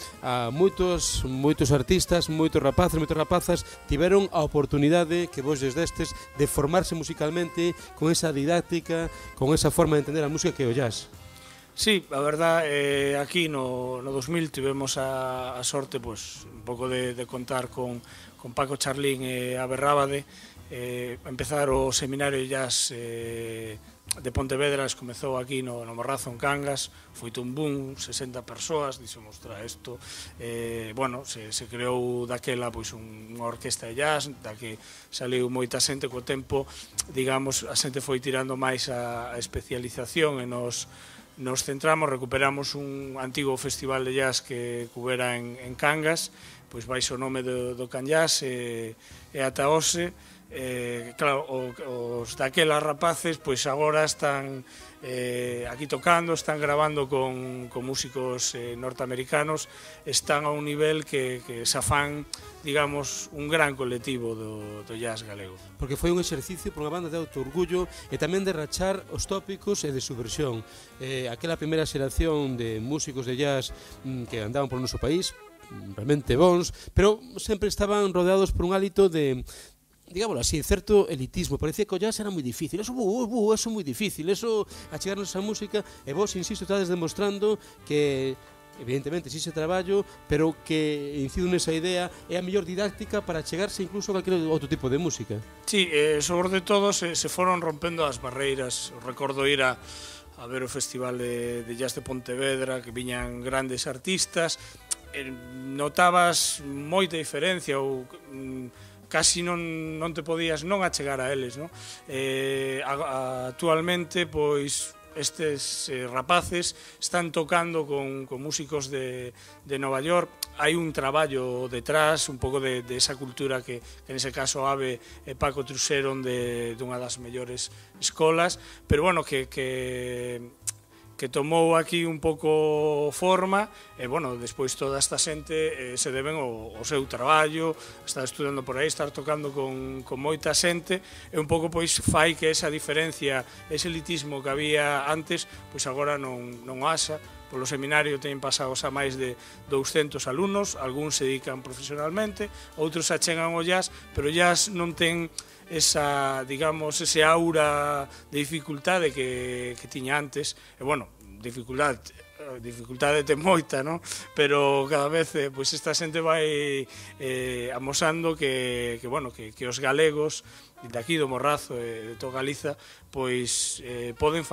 moitos artistas, moitos rapaces, moitas rapazas tiveron a oportunidade que vos destes de formarse musicalmente con esa didáctica, con esa forma de entender a música que é o jazz. Sí, a verdad, aquí no 2000 tivemos a sorte un pouco de contar con Paco Charlín e Abe Rábade, empezar o seminario de jazz de Pontevedra, comezou aquí no Morrazo, en Cangas, foi un boom, 60 persoas, dixemos, isto, bueno, se creou daquela pois unha orquesta de jazz, da que saliu moita xente co tempo, digamos, a xente foi tirando máis a especialización e nos centramos, recuperamos un antigo festival de jazz que cubera en Cangas, pois baixo o nome do Can Jazz e ata hoxe. Claro, os daquelas rapaces pois agora están aquí tocando, están grabando con músicos norteamericanos, están a un nivel que xa fan, digamos, un gran colectivo do jazz galego. Porque foi un exercicio por unha banda de autoorgullo e tamén de rachar os tópicos e de subversión. Aquela primeira xeración de músicos de jazz que andaban por noso país, realmente bons, pero sempre estaban rodeados por un hálito de, digámoslo así, certo elitismo. Parecía que o jazz era moi difícil, eso é moi difícil, eso achegarnos a música, e vos, insisto, estades demostrando que evidentemente sí se traballo, pero que incido nesa idea é a mellor didáctica para chegarse incluso a calquer outro tipo de música. Sí, sobre todo se foron rompendo as barreiras. Recordo ir a ver o Festival de Jazz de Pontevedra, que viñan grandes artistas, notabas moita diferencia ou casi non te podías non achegar a eles, non? Actualmente, pois, estes rapaces están tocando con músicos de Nova York. Hai un traballo detrás, un pouco de esa cultura que nese caso Ave e Paco truxeron dunha das mellores escolas, pero bueno, que tomou aquí un pouco forma e, bueno, despois toda esta xente se deben ao seu traballo, estar estudando por aí, estar tocando con moita xente e un pouco pois fai que esa diferencia, ese elitismo que había antes, pois agora non haxa. Polo seminario teñen pasados a máis de 200 alumnos, algúns se dedican profesionalmente, outros se achegan ao jazz, pero o jazz non ten esa, digamos, ese aura de dificultade que tiña antes. E, bueno, dificultade ten moita, non? Pero cada vez pois esta xente vai amosando que os galegos de aquí do Morrazo e de toda Galiza pois poden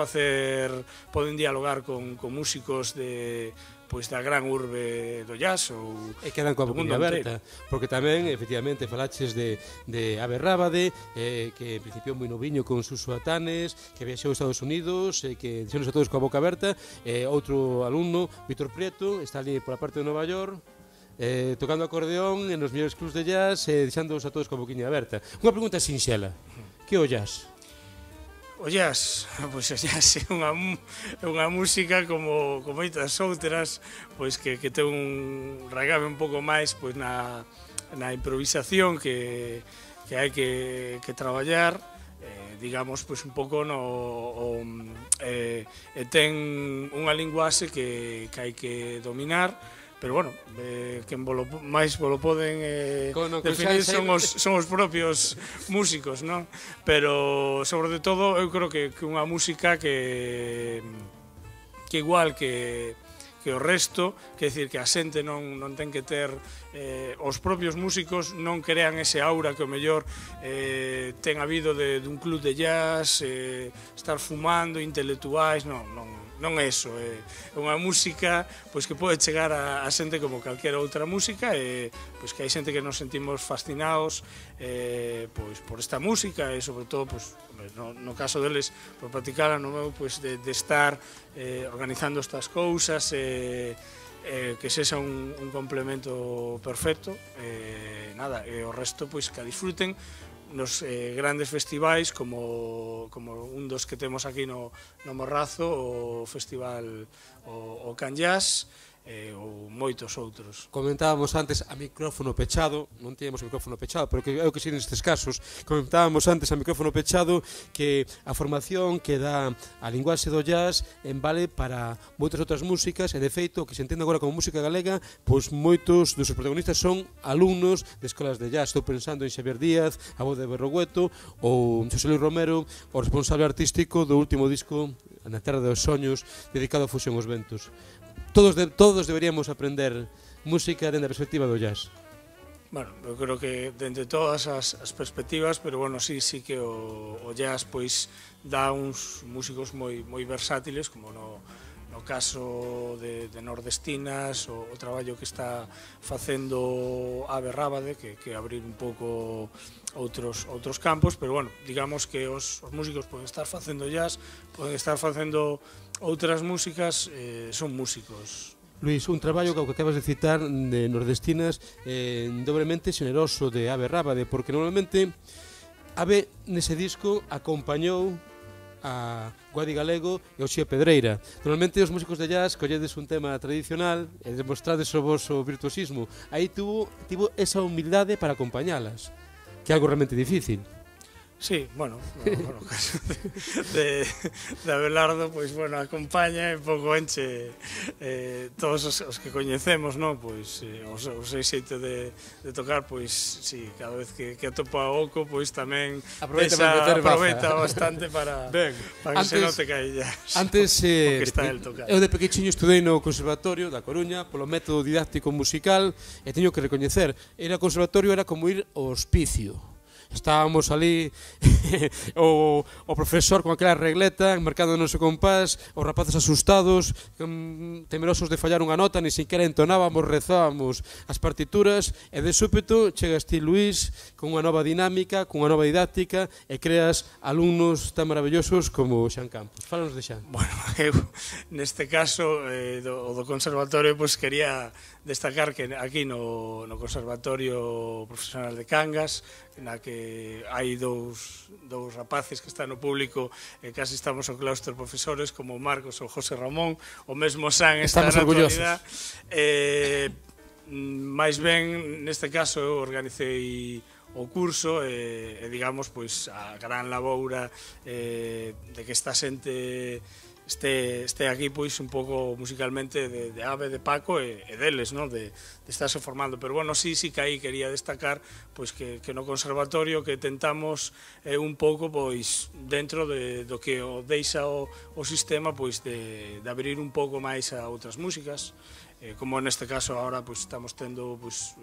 dialogar con músicos da gran urbe do jazz ou e quedan coa boquilla aberta, porque tamén efectivamente falaches de Ave Rábade, que en principio moi noviño con Suso Atanes, que viaxou a Estados Unidos, que dixenos a todos coa boca aberta, outro alumno, Víctor Prieto, está ali pola parte de Nova York, tocando acordeón en os mellores clubs de jazz, deixándoos a todos coa boquinha aberta. Unha pregunta sinxela, que o jazz? O jazz, pois o jazz é unha música como moitas outras, pois que ten un raigabe un pouco máis pois na improvisación que hai que traballar, digamos, pois un pouco ten unha linguaxe que hai que dominar. Pero, bueno, quen máis lo poden definir son os propios músicos, non? Pero, sobre todo, eu creo que unha música que igual que o resto, que decir que a xente non ten que ter, os propios músicos non crean ese aura que o mellor ten habido dun club de jazz, estar fumando, intelectuais, non é iso, é unha música pois que pode chegar a xente como calquera outra música e pois que hai xente que nos sentimos fascinados pois por esta música e sobre todo pois no caso deles por practicarla, no meu pois de estar organizando estas cousas que sexa un complemento perfecto nada, e o resto pois que a disfruten nos grandes festivais como un dos que temos aquí no Morrazo, o festival o Can Jazz ou moitos outros. Comentábamos antes a micrófono pechado, non tiñamos o micrófono pechado, pero é o que si nestes casos, comentábamos antes a micrófono pechado que a formación que dá a linguaxe do jazz vale para moitas outras músicas e de feito o que se entende agora como música galega, pois moitos dos seus protagonistas son alumnos de escolas de jazz. Estou pensando en Xavier Díaz, a voz de Berrogueto, ou Xosé Luis Romero, o responsable artístico do último disco Na Terra dos Soños, dedicado a Fusión aos Ventos. Todos deberíamos aprender música dentro da perspectiva do jazz. Bueno, eu creo que dentro de todas as perspectivas, pero bueno, sí que o jazz pois dá uns músicos moi versátiles, como no caso de Nordestinas, o traballo que está facendo Ave Rábade, que abrir un pouco outros campos, pero bueno, digamos que os músicos poden estar facendo jazz, poden estar facendo outras músicas, son músicos. Luís, un traballo que acabas de citar de Nordestinas dobremente xeneroso de Ave Rábade, porque normalmente Ave nese disco acompañou a Guadi Galego e o Xía Pedreira. Normalmente os músicos de jazz colledes un tema tradicional e demostrades o voso virtuosismo. Aí tivo esa humildade para acompañalas, que é algo realmente difícil. Sí, bueno, no caso de Abelardo, pois, bueno, acompaña e pouco enche todos os que coñecemos, non? Pois, o seu xeito de tocar, pois, sí, cada vez que atopa a Oco, pois, tamén aproveita bastante para que se note que aí ya antes, o que está el tocando. Eu de pequechiño estudei no Conservatorio da Coruña polo método didáctico musical e teño que recoñecer, ir ao conservatorio era como ir ao hospicio. Estábamos ali o profesor con aquela regleta marcando o noso compás, os rapaces asustados, temerosos de fallar unha nota, ni siquiera entonábamos, rezábamos as partituras e de súpeto chegas ti, Luís, con unha nova dinámica, con unha nova didáctica e creas alumnos tan maravillosos como Xan Campos. Fálanos de Xan. Bueno, eu neste caso o do conservatorio pois quería destacar que aquí no Conservatorio Profesional de Cangas, na que hai dous rapaces que están no público e casi estamos ao claustro profesores como Marcos ou José Ramón, o mesmo San está na actualidade. Mais ben, neste caso, eu organicei o curso e digamos, pois, a gran laboura de que esta xente este aquí pois un pouco musicalmente de Ave, de Paco e deles, non? De estarse formando, pero bueno, sí que aí quería destacar pois que no conservatorio que tentamos un pouco pois dentro do que o deixa o sistema pois de abrir un pouco máis a outras músicas. Como neste caso agora pois, estamos tendo pois,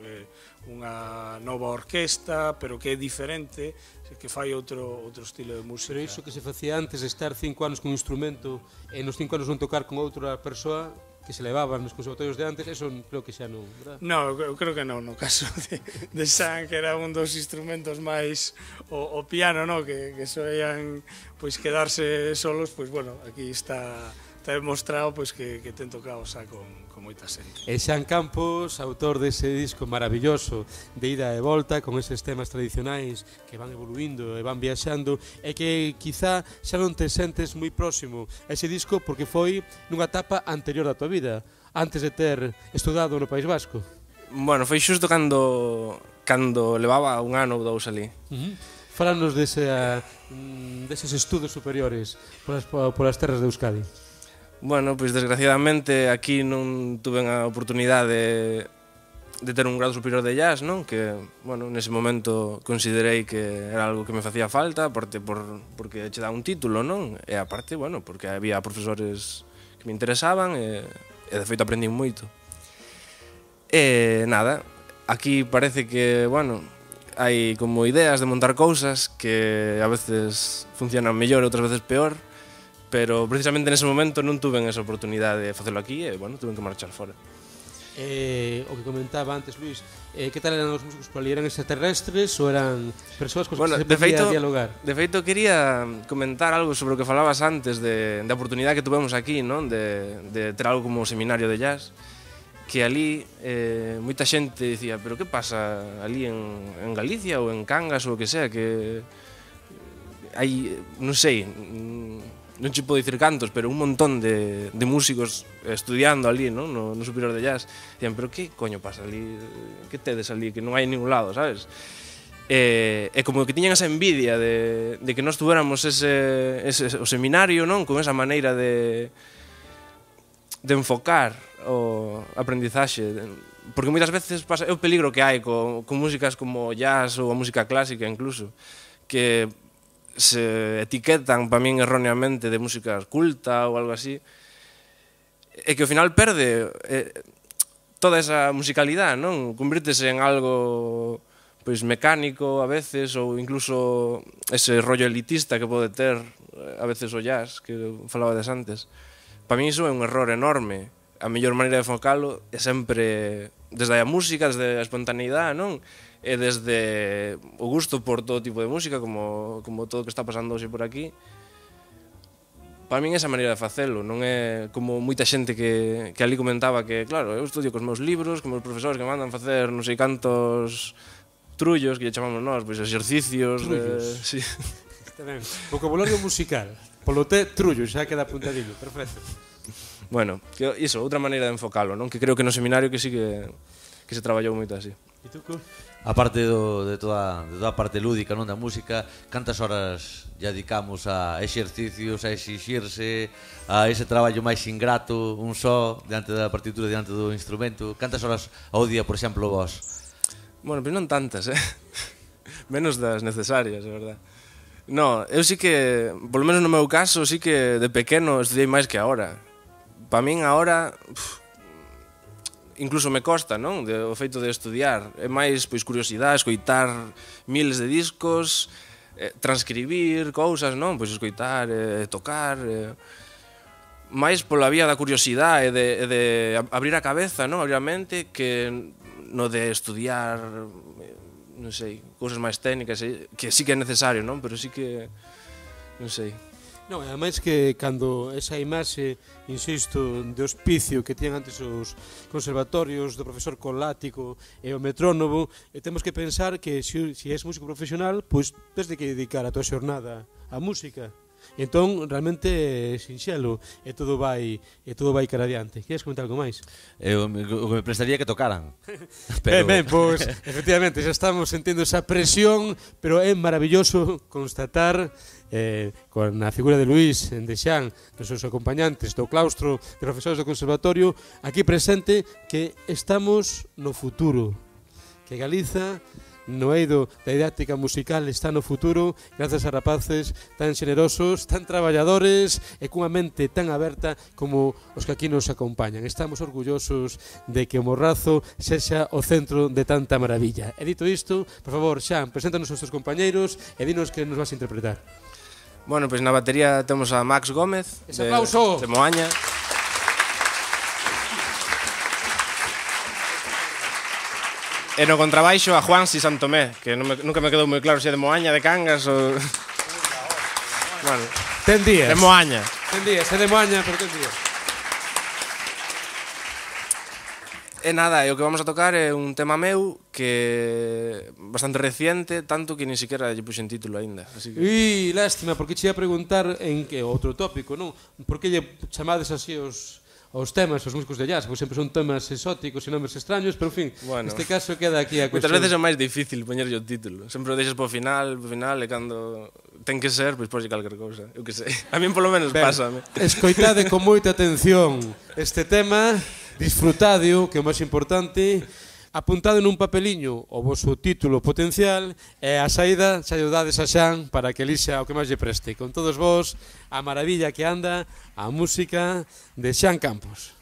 unha nova orquesta, pero que é diferente, que fai outro estilo de música. Pero iso que se facía antes de estar 5 anos con un instrumento e nos 5 anos non tocar con outra persoa que se levaban nos conservatorios de antes, eso creo que xa non, verdad? Non, eu creo que non, no caso de San, que era un dos instrumentos máis o piano, no? que soían pois, quedarse solos, pois bueno, aquí está demostrado pois, que ten tocado xa con moita xente. E Xan Campos, autor dese disco maravilloso de ida e volta, con eses temas tradicionais que van evoluindo e van viaxando, e que quizá xa non te sentes moi próximo a ese disco porque foi nunha etapa anterior da tua vida, antes de ter estudado no País Vasco. Bueno, foi xusto cando levaba un ano ou dous ali. Fálanos deses estudos superiores polas terras de Euskadi. Bueno, pois desgraciadamente aquí non tuve a oportunidade de ter un grado superior de jazz, non? Que, bueno, nese momento considerei que era algo que me facía falta, aparte porque che dá un título, non? E aparte, bueno, porque había profesores que me interesaban e de feito aprendín moito. E nada, aquí parece que, bueno, hai como ideas de montar cousas que a veces funcionan mellor e outras veces peor, pero precisamente nese momento non tuve esa oportunidade de facelo aquí e, bueno, tuve que marchar fora. O que comentaba antes, Luís, que tal eran os músicos por ali? Eran extraterrestres ou eran persoas con as que se podía dialogar? De feito, quería comentar algo sobre o que falabas antes da oportunidade que tuvemos aquí, non? De ter algo como seminario de jazz, que ali moita xente dicía, pero que pasa ali en Galicia ou en Cangas ou o que sea, que hai, non sei, non che podo dicir cantos, pero un montón de músicos estudiando ali, non? No superior de jazz. Dicían, pero que coño pasa ali? Que tedes ali? Que non hai ningún lado, sabes? E como que tiñan esa envidia de que nós tuéramos o seminario, non? Con esa maneira de enfocar o aprendizaxe. Porque moitas veces pasa, é o peligro que hai con músicas como jazz ou a música clásica incluso, que se etiquetan para min erróneamente de música culta ou algo así, e que ao final perde toda esa musicalidade, non? Convírtese en algo pois mecánico a veces ou incluso ese rollo elitista que pode ter a veces o jazz que falabades antes. Para mí iso é un error enorme. A mellor maneira de enfocalo é sempre desde a música, desde a espontaneidade, non? E desde o gusto por todo tipo de música, como todo o que está pasando hoxe por aquí. Para min esa maneira de facelo, non é como moita xente que ali comentaba que, claro, eu estudio cos meus libros, con meus profesores que me mandan facer non sei cantos trullos, que lle chamamos nós, pois exercicios. Trullos. Sí. Está ben. Vocabulario musical. Polo té, trullo, xa queda apuntadillo. Perfecto. Bueno, que iso, outra maneira de enfocalo, non? Que creo que no seminario que sí que se traballou moito así. E tú, Cu? A parte de toda a parte lúdica, non, da música, cantas horas lle dedicamos a exercicios, a exixirse, a ese traballo máis ingrato, un só, diante da partitura, diante do instrumento? Cantas horas ao día, por exemplo, vos? Bueno, pois non tantas, menos das necesarias, é verdad. No, eu sí que, polo menos no meu caso, sí que de pequeno estudiei máis que agora. Pa min agora incluso me costa, non? O feito de estudiar. É máis pois curiosidade, escoitar miles de discos, transcribir cousas, non? Pois escoitar, tocar, máis pola vía da curiosidade e de abrir a cabeza, non? Abrir a mente, que no de estudiar, non sei, cousas máis técnicas, que sí que é necesario, non? Pero sí que, non sei. Non, ademais que cando esa imaxe, insisto, de hospicio que tiñan antes os conservatorios do profesor con látigo e o metrónomo, temos que pensar que se és músico profesional, pois tens de que dedicar a tua xornada á música. Entón, realmente é sinxelo e todo vai cara adiante. Queres comentar algo máis? O que me prestaría que tocaran. Ben, pois, efectivamente, xa estamos sentindo esa presión, pero é maravilloso constatar con a figura de Luís, de Xan, dos seus acompañantes do claustro de profesores do conservatorio, aquí presente, que estamos no futuro, que Galiza no eido da didáctica musical está no futuro grazas a rapaces tan xenerosos, tan traballadores e cunha mente tan aberta como os que aquí nos acompañan. Estamos orgullosos de que o Morrazo sexa o centro de tanta maravilla. E dito isto, por favor, Xan, preséntanos os teus compañeiros e dinos que nos vas a interpretar. Bueno, pois na batería temos a Max Gómez, de Moaña. E no contrabaixo a Juansi Santomé, que nunca me quedou moi claro se é de Moaña, de Cangas ou... Bueno, ten días. De Moaña. Ten días, é de Moaña, pero ten días. E nada, o que vamos a tocar é un tema meu que bastante reciente, tanto que ni siquiera lle puxen título aínda. Lástima, porque che ia preguntar en que outro tópico, non? Por que lle chamades así os temas, os músicos de jazz, pois sempre son temas exóticos e nomes extraños, pero en fin, neste caso queda aquí a cuestión. Moitas veces é máis difícil poñerlle o título, sempre o deixas por final, e cando ten que ser, pois poslle calquer cousa, eu que sei. A min polo menos pásame. Escoitade con moita atención este tema, disfrutadio, que é o máis importante, apuntado nun papeliño o voso título potencial e a saída xa lle dades a Xan para que elixa o que máis lle preste. Con todos vos, a maravilla que anda, a música de Xan Campos.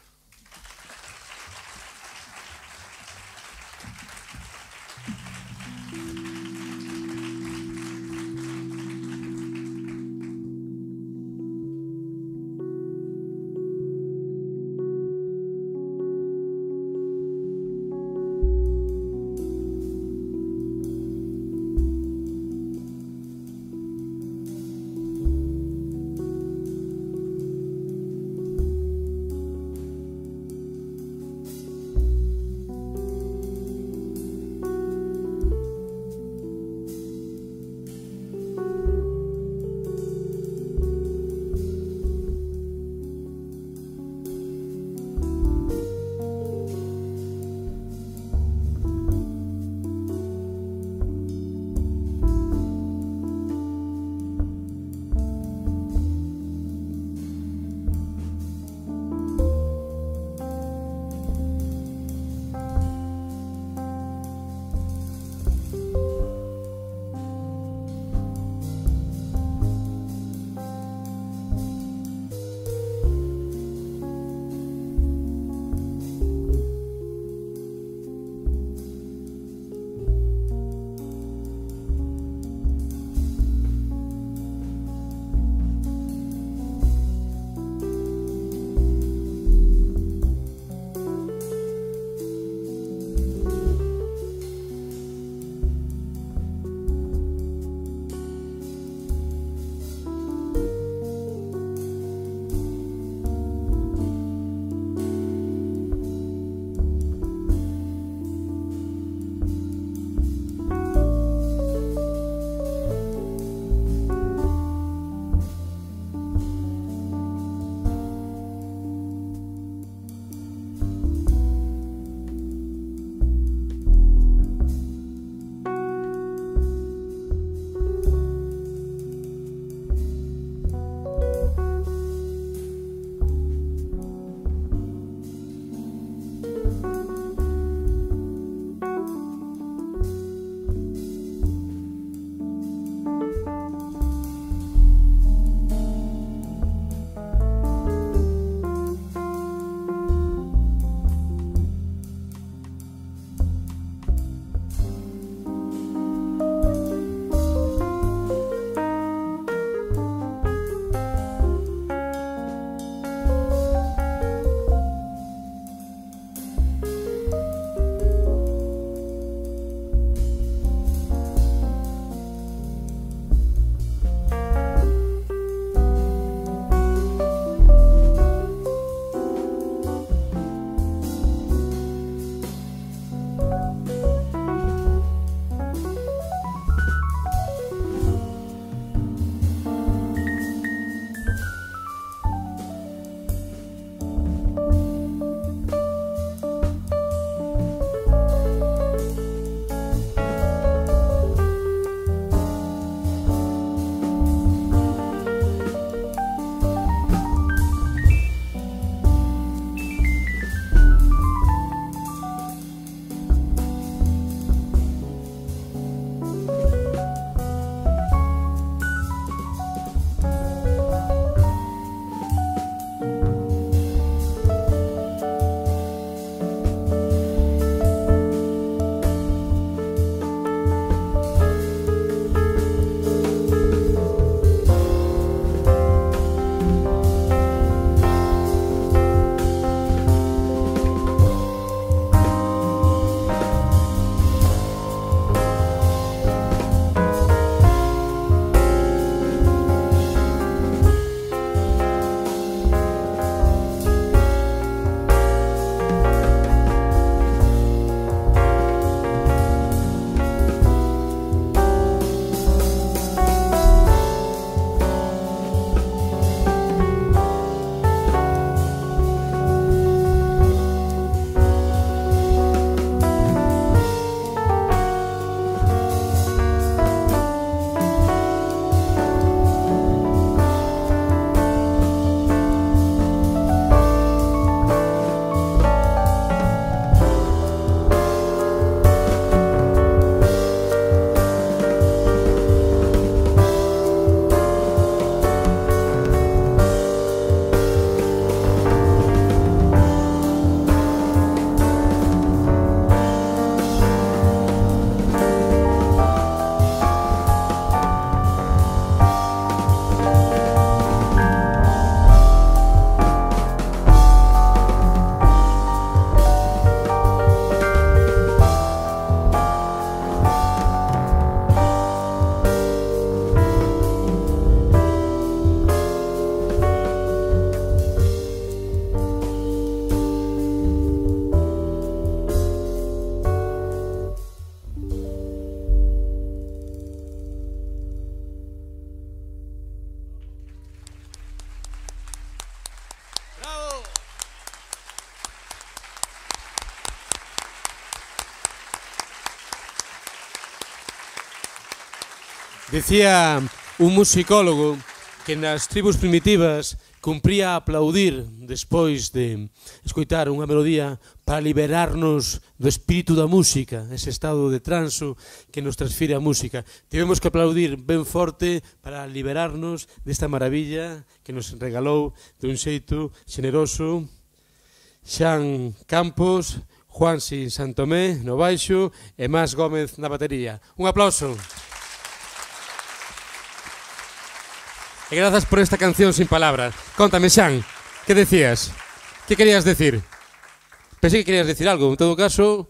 Decía un musicólogo que nas tribus primitivas cumpría aplaudir despois de escoitar unha melodía para liberarnos do espírito da música, ese estado de transo que nos transfire a música. Tivemos que aplaudir ben forte para liberarnos desta maravilla que nos regalou dun xeito xeneroso Xan Campos, Juansi Santomé no baixo e Mas Gómez na batería. Un aplauso. E grazas por esta canción sin palabras. Contame, Xan, que decías? Que querías decir? Pensei que querías decir algo, en todo caso,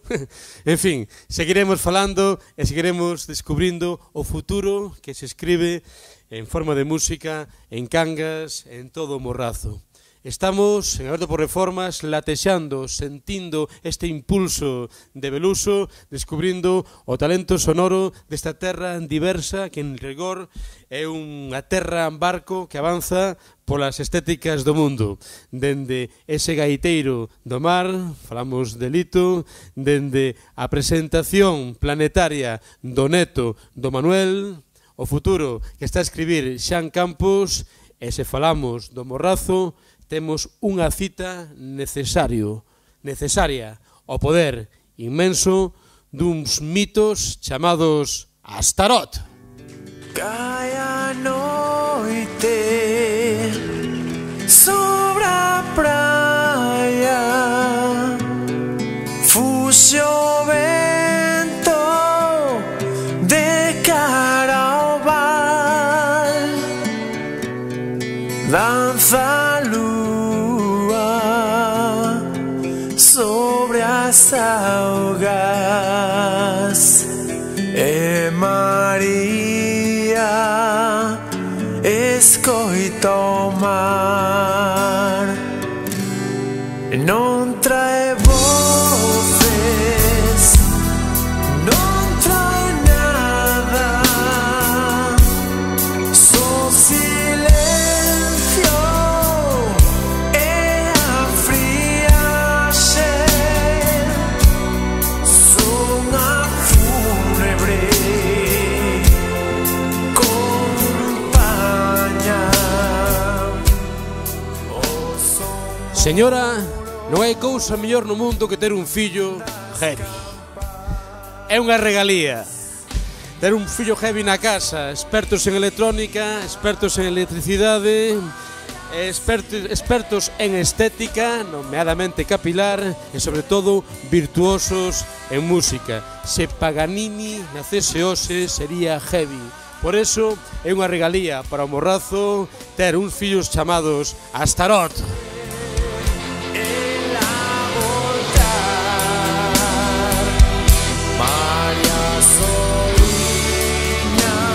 en fin, seguiremos falando e seguiremos descubrindo o futuro que se escribe en forma de música, en Cangas, en todo o Morrazo. Estamos, en Aberto por Reformas, latexando, sentindo este impulso de Beluso, descubrindo o talento sonoro desta terra diversa que en rigor é unha terra en barco que avanza polas estéticas do mundo. Dende ese gaiteiro do mar, falamos de Lito, dende a presentación planetaria do neto do Manuel, o futuro que está a escribir Xan Campos, e se falamos do Morrazo, temos unha cita necesaria, o poder inmenso duns mitos chamados Astarot. Cae a noite sobre a praia, fuxe o vento de cara ao val, danza a lúa sobre as augas e María escoita o mar, non trae voces, non trae nada, só silencio e a friaxe, son a fúnebre compaña. Señora, non hai cousa mellor no mundo que ter un fillo heavy. É unha regalía. Ter un fillo heavy na casa, expertos en electrónica, expertos en electricidade, expertos en estética, nomeadamente capilar, e sobre todo virtuosos en música. Se Paganini nacese hoxe sería heavy. Por eso é unha regalía para o Morrazo ter uns fillos chamados Astarot.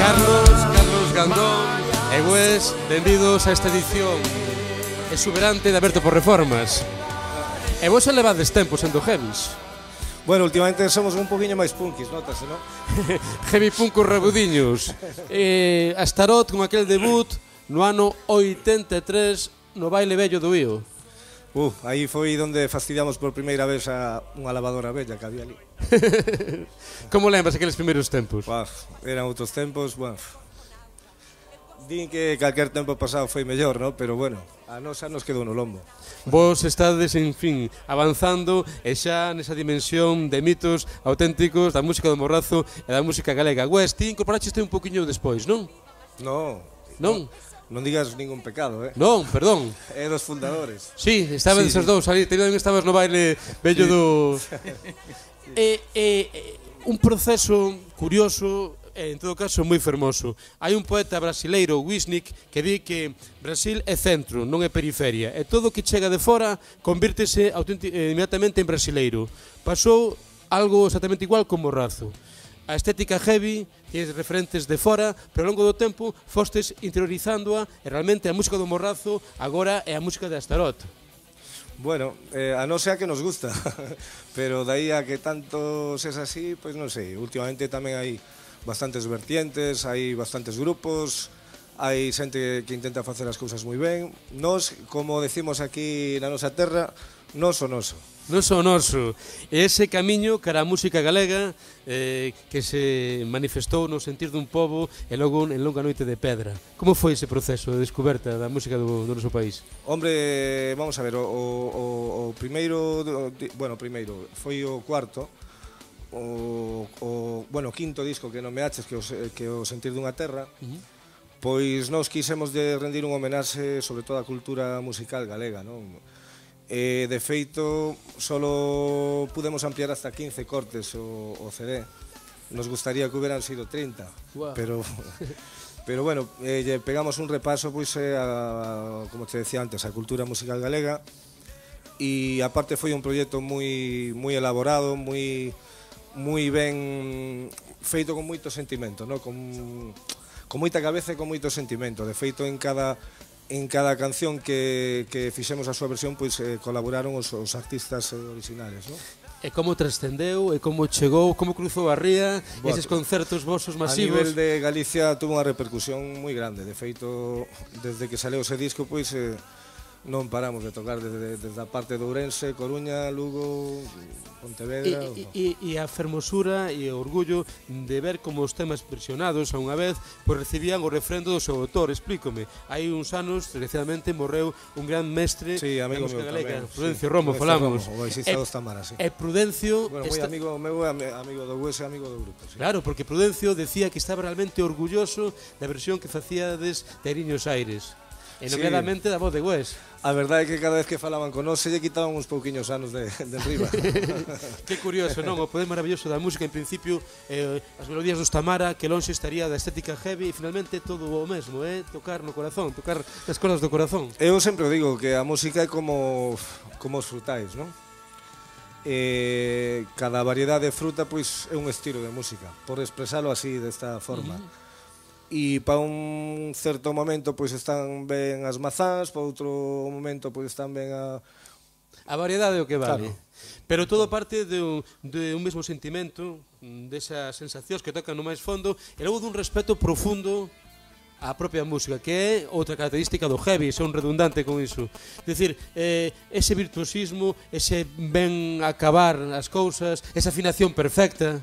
Carlos Gandón e Wes, benvidos a esta edición exuberante de Aberto por Reformas. E vos elevades tempo sendo heavies. Bueno, últimamente somos un poquinho máis punkis, notase, non? Heavy punkos rebudiños. Astarot con aquel debut no ano 83 no baile vello do Ío. Aí foi onde fastidiamos por primeira vez a unha lavadora bella que había ali. Como lembras aqueles primeiros tempos? Eran outros tempos, din que calquer tempo pasado foi mellor, ¿no? Pero bueno, a nosa nos quedou no lombo. Vos estades, en fin, avanzando e xa nesa dimensión de mitos auténticos da música do Morrazo e da música galega. Wes, ti incorporaste un poquinho despois, non? Non. Non digas ningún pecado, Non, perdón. É dos fundadores. Sí, estaban esos dous ali, tamén estabas no baile bello do... Un proceso curioso, en todo caso moi fermoso. Hai un poeta brasileiro, Wisnik, que di que Brasil é centro, non é periferia, e todo o que chega de fora convírtese inmediatamente en brasileiro. Pasou algo exactamente igual con Morrazo. A estética heavy, tienes referentes de fora, pero ao longo do tempo fostes interiorizándoa e realmente a música do Morrazo agora é a música de Astarot. Bueno, a non ser que nos gusta, pero dai a que tanto es así, pois non sei. Últimamente tamén hai bastantes vertientes, hai bastantes grupos, hai xente que intenta facer as cousas moi ben. Nos, como decimos aquí na nosa terra, nos o noso. Non só noso. Ese camiño cara a música galega que se manifestou no sentir dun pobo e logo en Longa Noite de Pedra. Como foi ese proceso de descoberta da música do noso país? Hombre, vamos a ver, o primeiro, bueno, primeiro, foi o cuarto, bueno, o quinto disco que non me aches, que o Sentir dunha terra, pois nós quisemos de rendir un homenaxe sobre toda a cultura musical galega, non? De feito, solo pudemos ampliar hasta 15 cortes o CD. Nos gustaría que hubieran sido 30, pero bueno, pegamos un repaso, pois, como te decía antes, a cultura musical galega, e aparte foi un proxecto moi elaborado, moi ben feito con moito sentimento, no? Con moita cabeza e con moito sentimento. De feito, en cada canción que fixemos a súa versión, pois colaboraron os artistas originales, non? E como trascendeu, e como chegou, como cruzou a ría, eses concertos vosos masivos? A nivel de Galicia tuvo unha repercusión moi grande. De feito, desde que saleu ese disco, pois non paramos de tocar desde a parte de Ourense, Coruña, Lugo, Pontevedra. E a fermosura e o orgullo de ver como os temas versionados a unha vez pois recibían o refrendo do seu autor. Explícome, hai uns anos, desgraciadamente, morreu un gran mestre da música galega, Prudencio Romo, falamos. O baixista dos Tamaras, sí. E Prudencio... Bueno, moi amigo meu, amigo do Hues e amigo do grupo. Claro, porque Prudencio decía que estaba realmente orgulloso da versión que facíades de Ariños Aires. E nomeadamente da voz de Hues. A verdade é que cada vez que falaban con nós se lle quitaban uns pouquiños anos de enriba. Que curioso, non? O poder maravilloso da música, en principio, as melodías dos Tamara, que lonxe estaría da estética heavy, e finalmente todo o mesmo, tocar no corazón, tocar nas cordas do corazón. Eu sempre digo que a música é como os frutais, non? Cada variedade de fruta pois é un estilo de música, por expresalo así, desta forma. E para un certo momento pois están ben as mazás, para outro momento pois están ben a variedade o que vale. Claro. Pero todo parte de un mesmo sentimento, desas sensacións que tocan no máis fondo, e logo dun respeto profundo á propia música, que é outra característica do heavy, son redundante con iso. Decir, ese virtuosismo, ese ben acabar as cousas, esa afinación perfecta.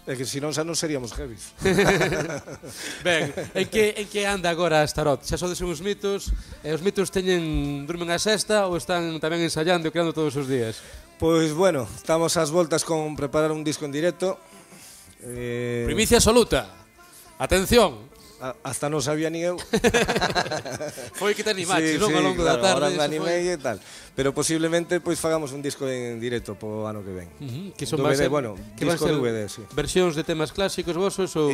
É que senón xa non seríamos heavies. Ben, en que anda agora a Starot? Xa sodes uns mitos, e os mitos durmen a sesta ou están tamén ensayando e creando todos os días? Pois bueno, estamos ás voltas con preparar un disco en directo. Primicia absoluta. Atención. Hasta non sabía ni eu. Foi que te animaches, non? Ao longo da tarde. Ahora me animei e tal. Pero posiblemente pois fagamos un disco en directo po ano que ven. Que son DVD, bueno, disco DVD, sí. Versións de temas clásicos vosos ou...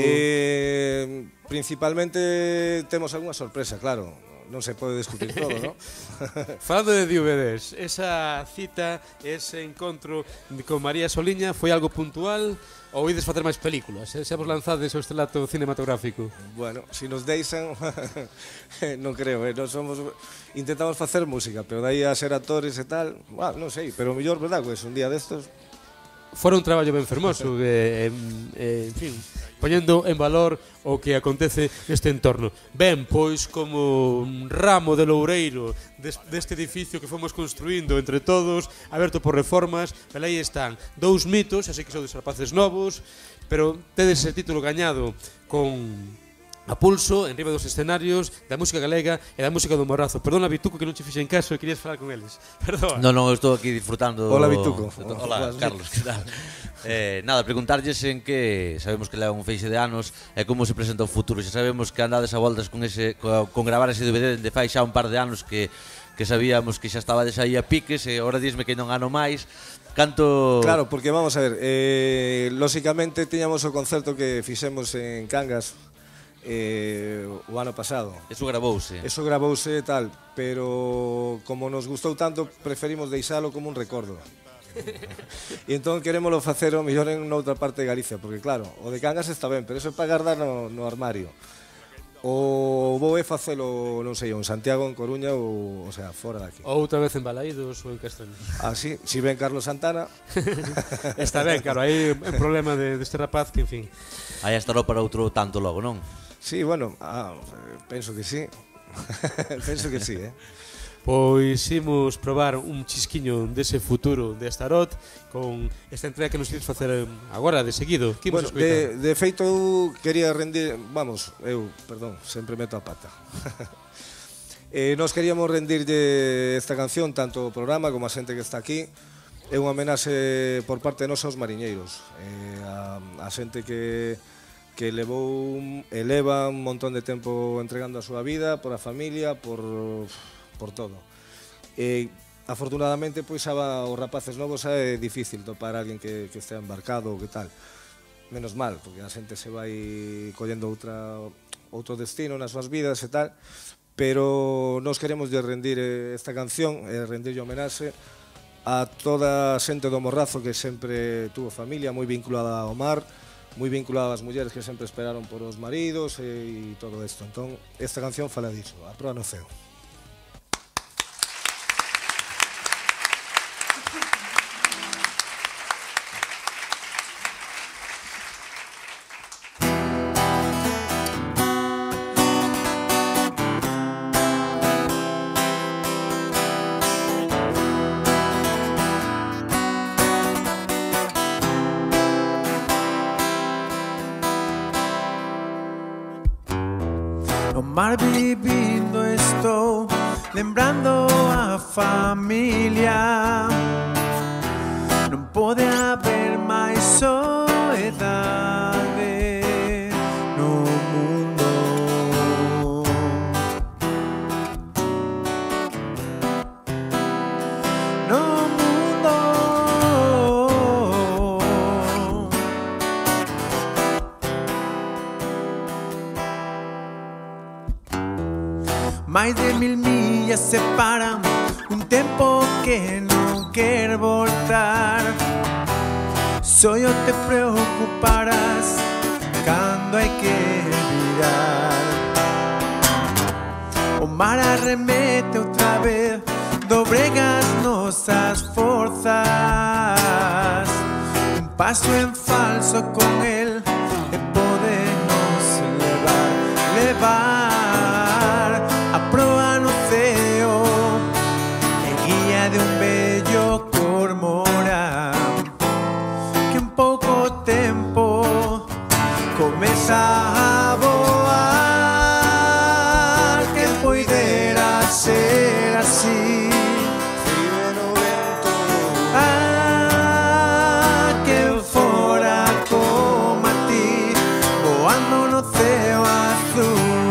Principalmente temos algunha sorpresa, claro. Non se pode discutir todo, non? Falando de DVDs, esa cita, ese encontro con María Soliña foi algo puntual ou ides facer máis películas? Se vos lanzades o estrelato cinematográfico? Bueno, se nos deixan, non creo, intentamos facer música, pero dai a ser actores e tal, non sei, pero o mellor, verdad, pues un día destos... Fora un traballo ben fermoso, en fin, poñendo en valor o que acontece neste entorno. Ben, pois como un ramo de loureiro deste edificio que fomos construindo entre todos, aberto por reformas, pero aí están dous mitos, xa sei que sodes rapaces novos, pero tedes ese título gañado con... a pulso, en riba dos escenarios, da música galega e da música do Morrazo. Perdona, Bituco, que non che fixen caso e querías falar con eles. Perdón. Non, estou aquí disfrutando... Hola, Bituco. Hola, Carlos, que tal? Nada, preguntarlles en que sabemos que leva un feixe de anos e como se presenta o futuro. Xa sabemos que andades a voltas con gravar ese DVD de fai xa un par de anos que sabíamos que xa estabades aí a piques e ahora dísme que non ano máis. Canto... Claro, porque vamos a ver, lóxicamente tiñamos o concerto que fixemos en Cangas o ano pasado. Eso gravouse e tal, pero como nos gustou tanto, preferimos deixalo como un recordo. E entón querémolo facer o mellor en outra parte de Galicia, porque claro, o de Cangas está ben, pero eso é para guardar no armario. O vou facelo, non sei, en Santiago, en Coruña ou sea, fora daqui. Ou outra vez en Balaídos ou en Castaño. Sí, si ven Carlos Santana. Está ben, claro, aí é un problema deste rapaz que, en fin. Aí estará para outro tanto logo, non? Sí, bueno, penso que sí. Penso que sí, Pois imos probar un chisquiño dese futuro de Astarot con esta entrega que nos queres facer agora, de seguido. Que imos escoitar? De feito, eu quería rendir... Vamos, perdón, sempre meto a pata. Nos queríamos rendirlle esta canción, tanto o programa como a xente que está aquí. É unha homenaxe por parte de nós aos mariñeiros. A xente que eleva un montón de tempo entregando a súa vida, por a familia, por todo. Afortunadamente, pois, os rapaces novos é difícil topar a alguén que estea embarcado ou que tal. Menos mal, porque a xente se vai collendo outro destino nas súas vidas e tal, pero nos queremos de rendir esta canción, rendirlle homenaxe a toda a xente do Morrazo que sempre tuvo familia, moi vinculada ao mar, moi vinculada ás mulleres que sempre esperaron por os maridos e todo isto. Entón, esta canción fala diso, A proa no ceo. No mar vivindo estou, lembrando a familia. Non pode haber máis soedade no mundo. No mundo. Mais de 1000 millas separan un tempo que non quer voltar. Só eu te preocuparás cando hai que virar. O mar arremete outra vez, dobrega as nosas forzas. Un paso en falso con el e podemos levar a proa no ceo, e guía de un bello cormorán que en pouco tempo comeza a voar. Que poidera ser así, que fora como a ti, voando no ceo azul.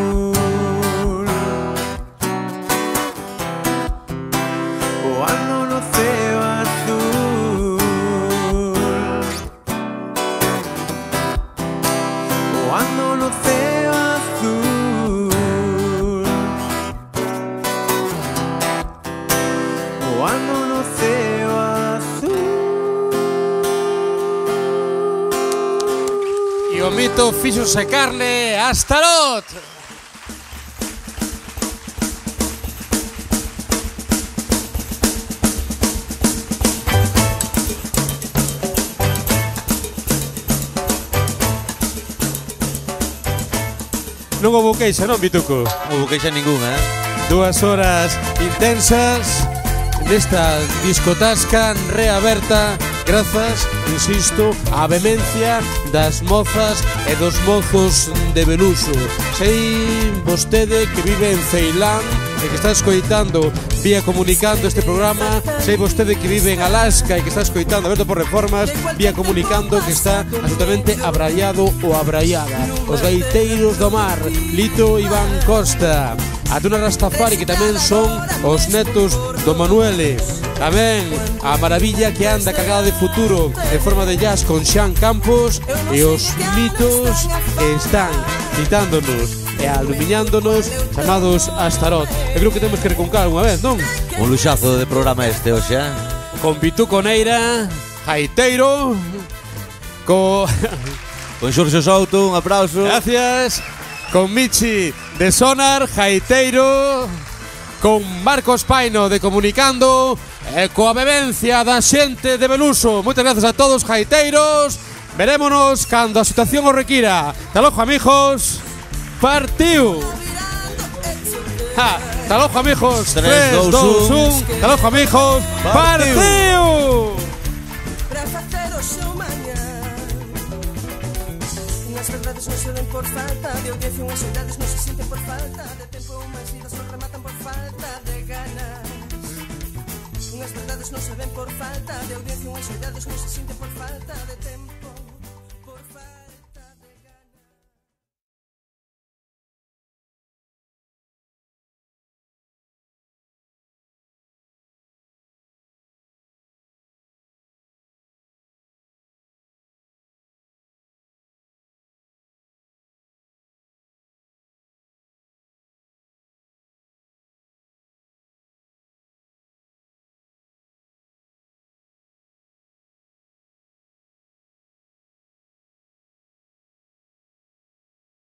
O mito fíxose carne, Astarot. Non houve queixa, non, Bituco? Non houve queixa ninguna, 2 horas intensas nesta discotasca reaberta grazas, insisto, á vehemencia das mozas e dos mozos de Beluso. Sei vostede que vive en Ceilán e que está escoitando vía comunicando este programa. Sei vostede que vive en Alaska e que está escoitando Aberto por Reformas vía comunicando, que está absolutamente abraiado ou abraiada. Os gaiteiros do mar, Lito Iván Costa, a Tuna Rastafari, que tamén son os netos do Manuele. Tamén a maravilla que anda cargada de futuro en forma de jazz con Xan Campos, e os mitos que están citándonos e alumiñándonos, chamados Astarot. Eu creo que temos que reconcar unha vez, non? Un luxazo de programa este hoxe, con Bituco Neira, Gaiteiro, con Xurxo Souto, un aplauso. Gracias. Con Michi de Sonar, Gaiteiro, con Marcos Paino de Comunicando e coa bebencia da xente de Beluso. Moitas grazas a todos, gaiteiros. Verémonos cando a situación o requira. Hasta logo, amigos. Partiu. Ja. Hasta logo, amigos. 3, 2, 1. Hasta logo, amigos. Partiu! Para facer o seu mañán. Unhas verdades non se ven por falta de audiencia, unhas soidades non se sinten por falta de tempo, unhas vidas non rematan por falta de ganas. Unhas verdades non se ven por falta de audiencia, unhas soidades non se sinten por falta de tempo.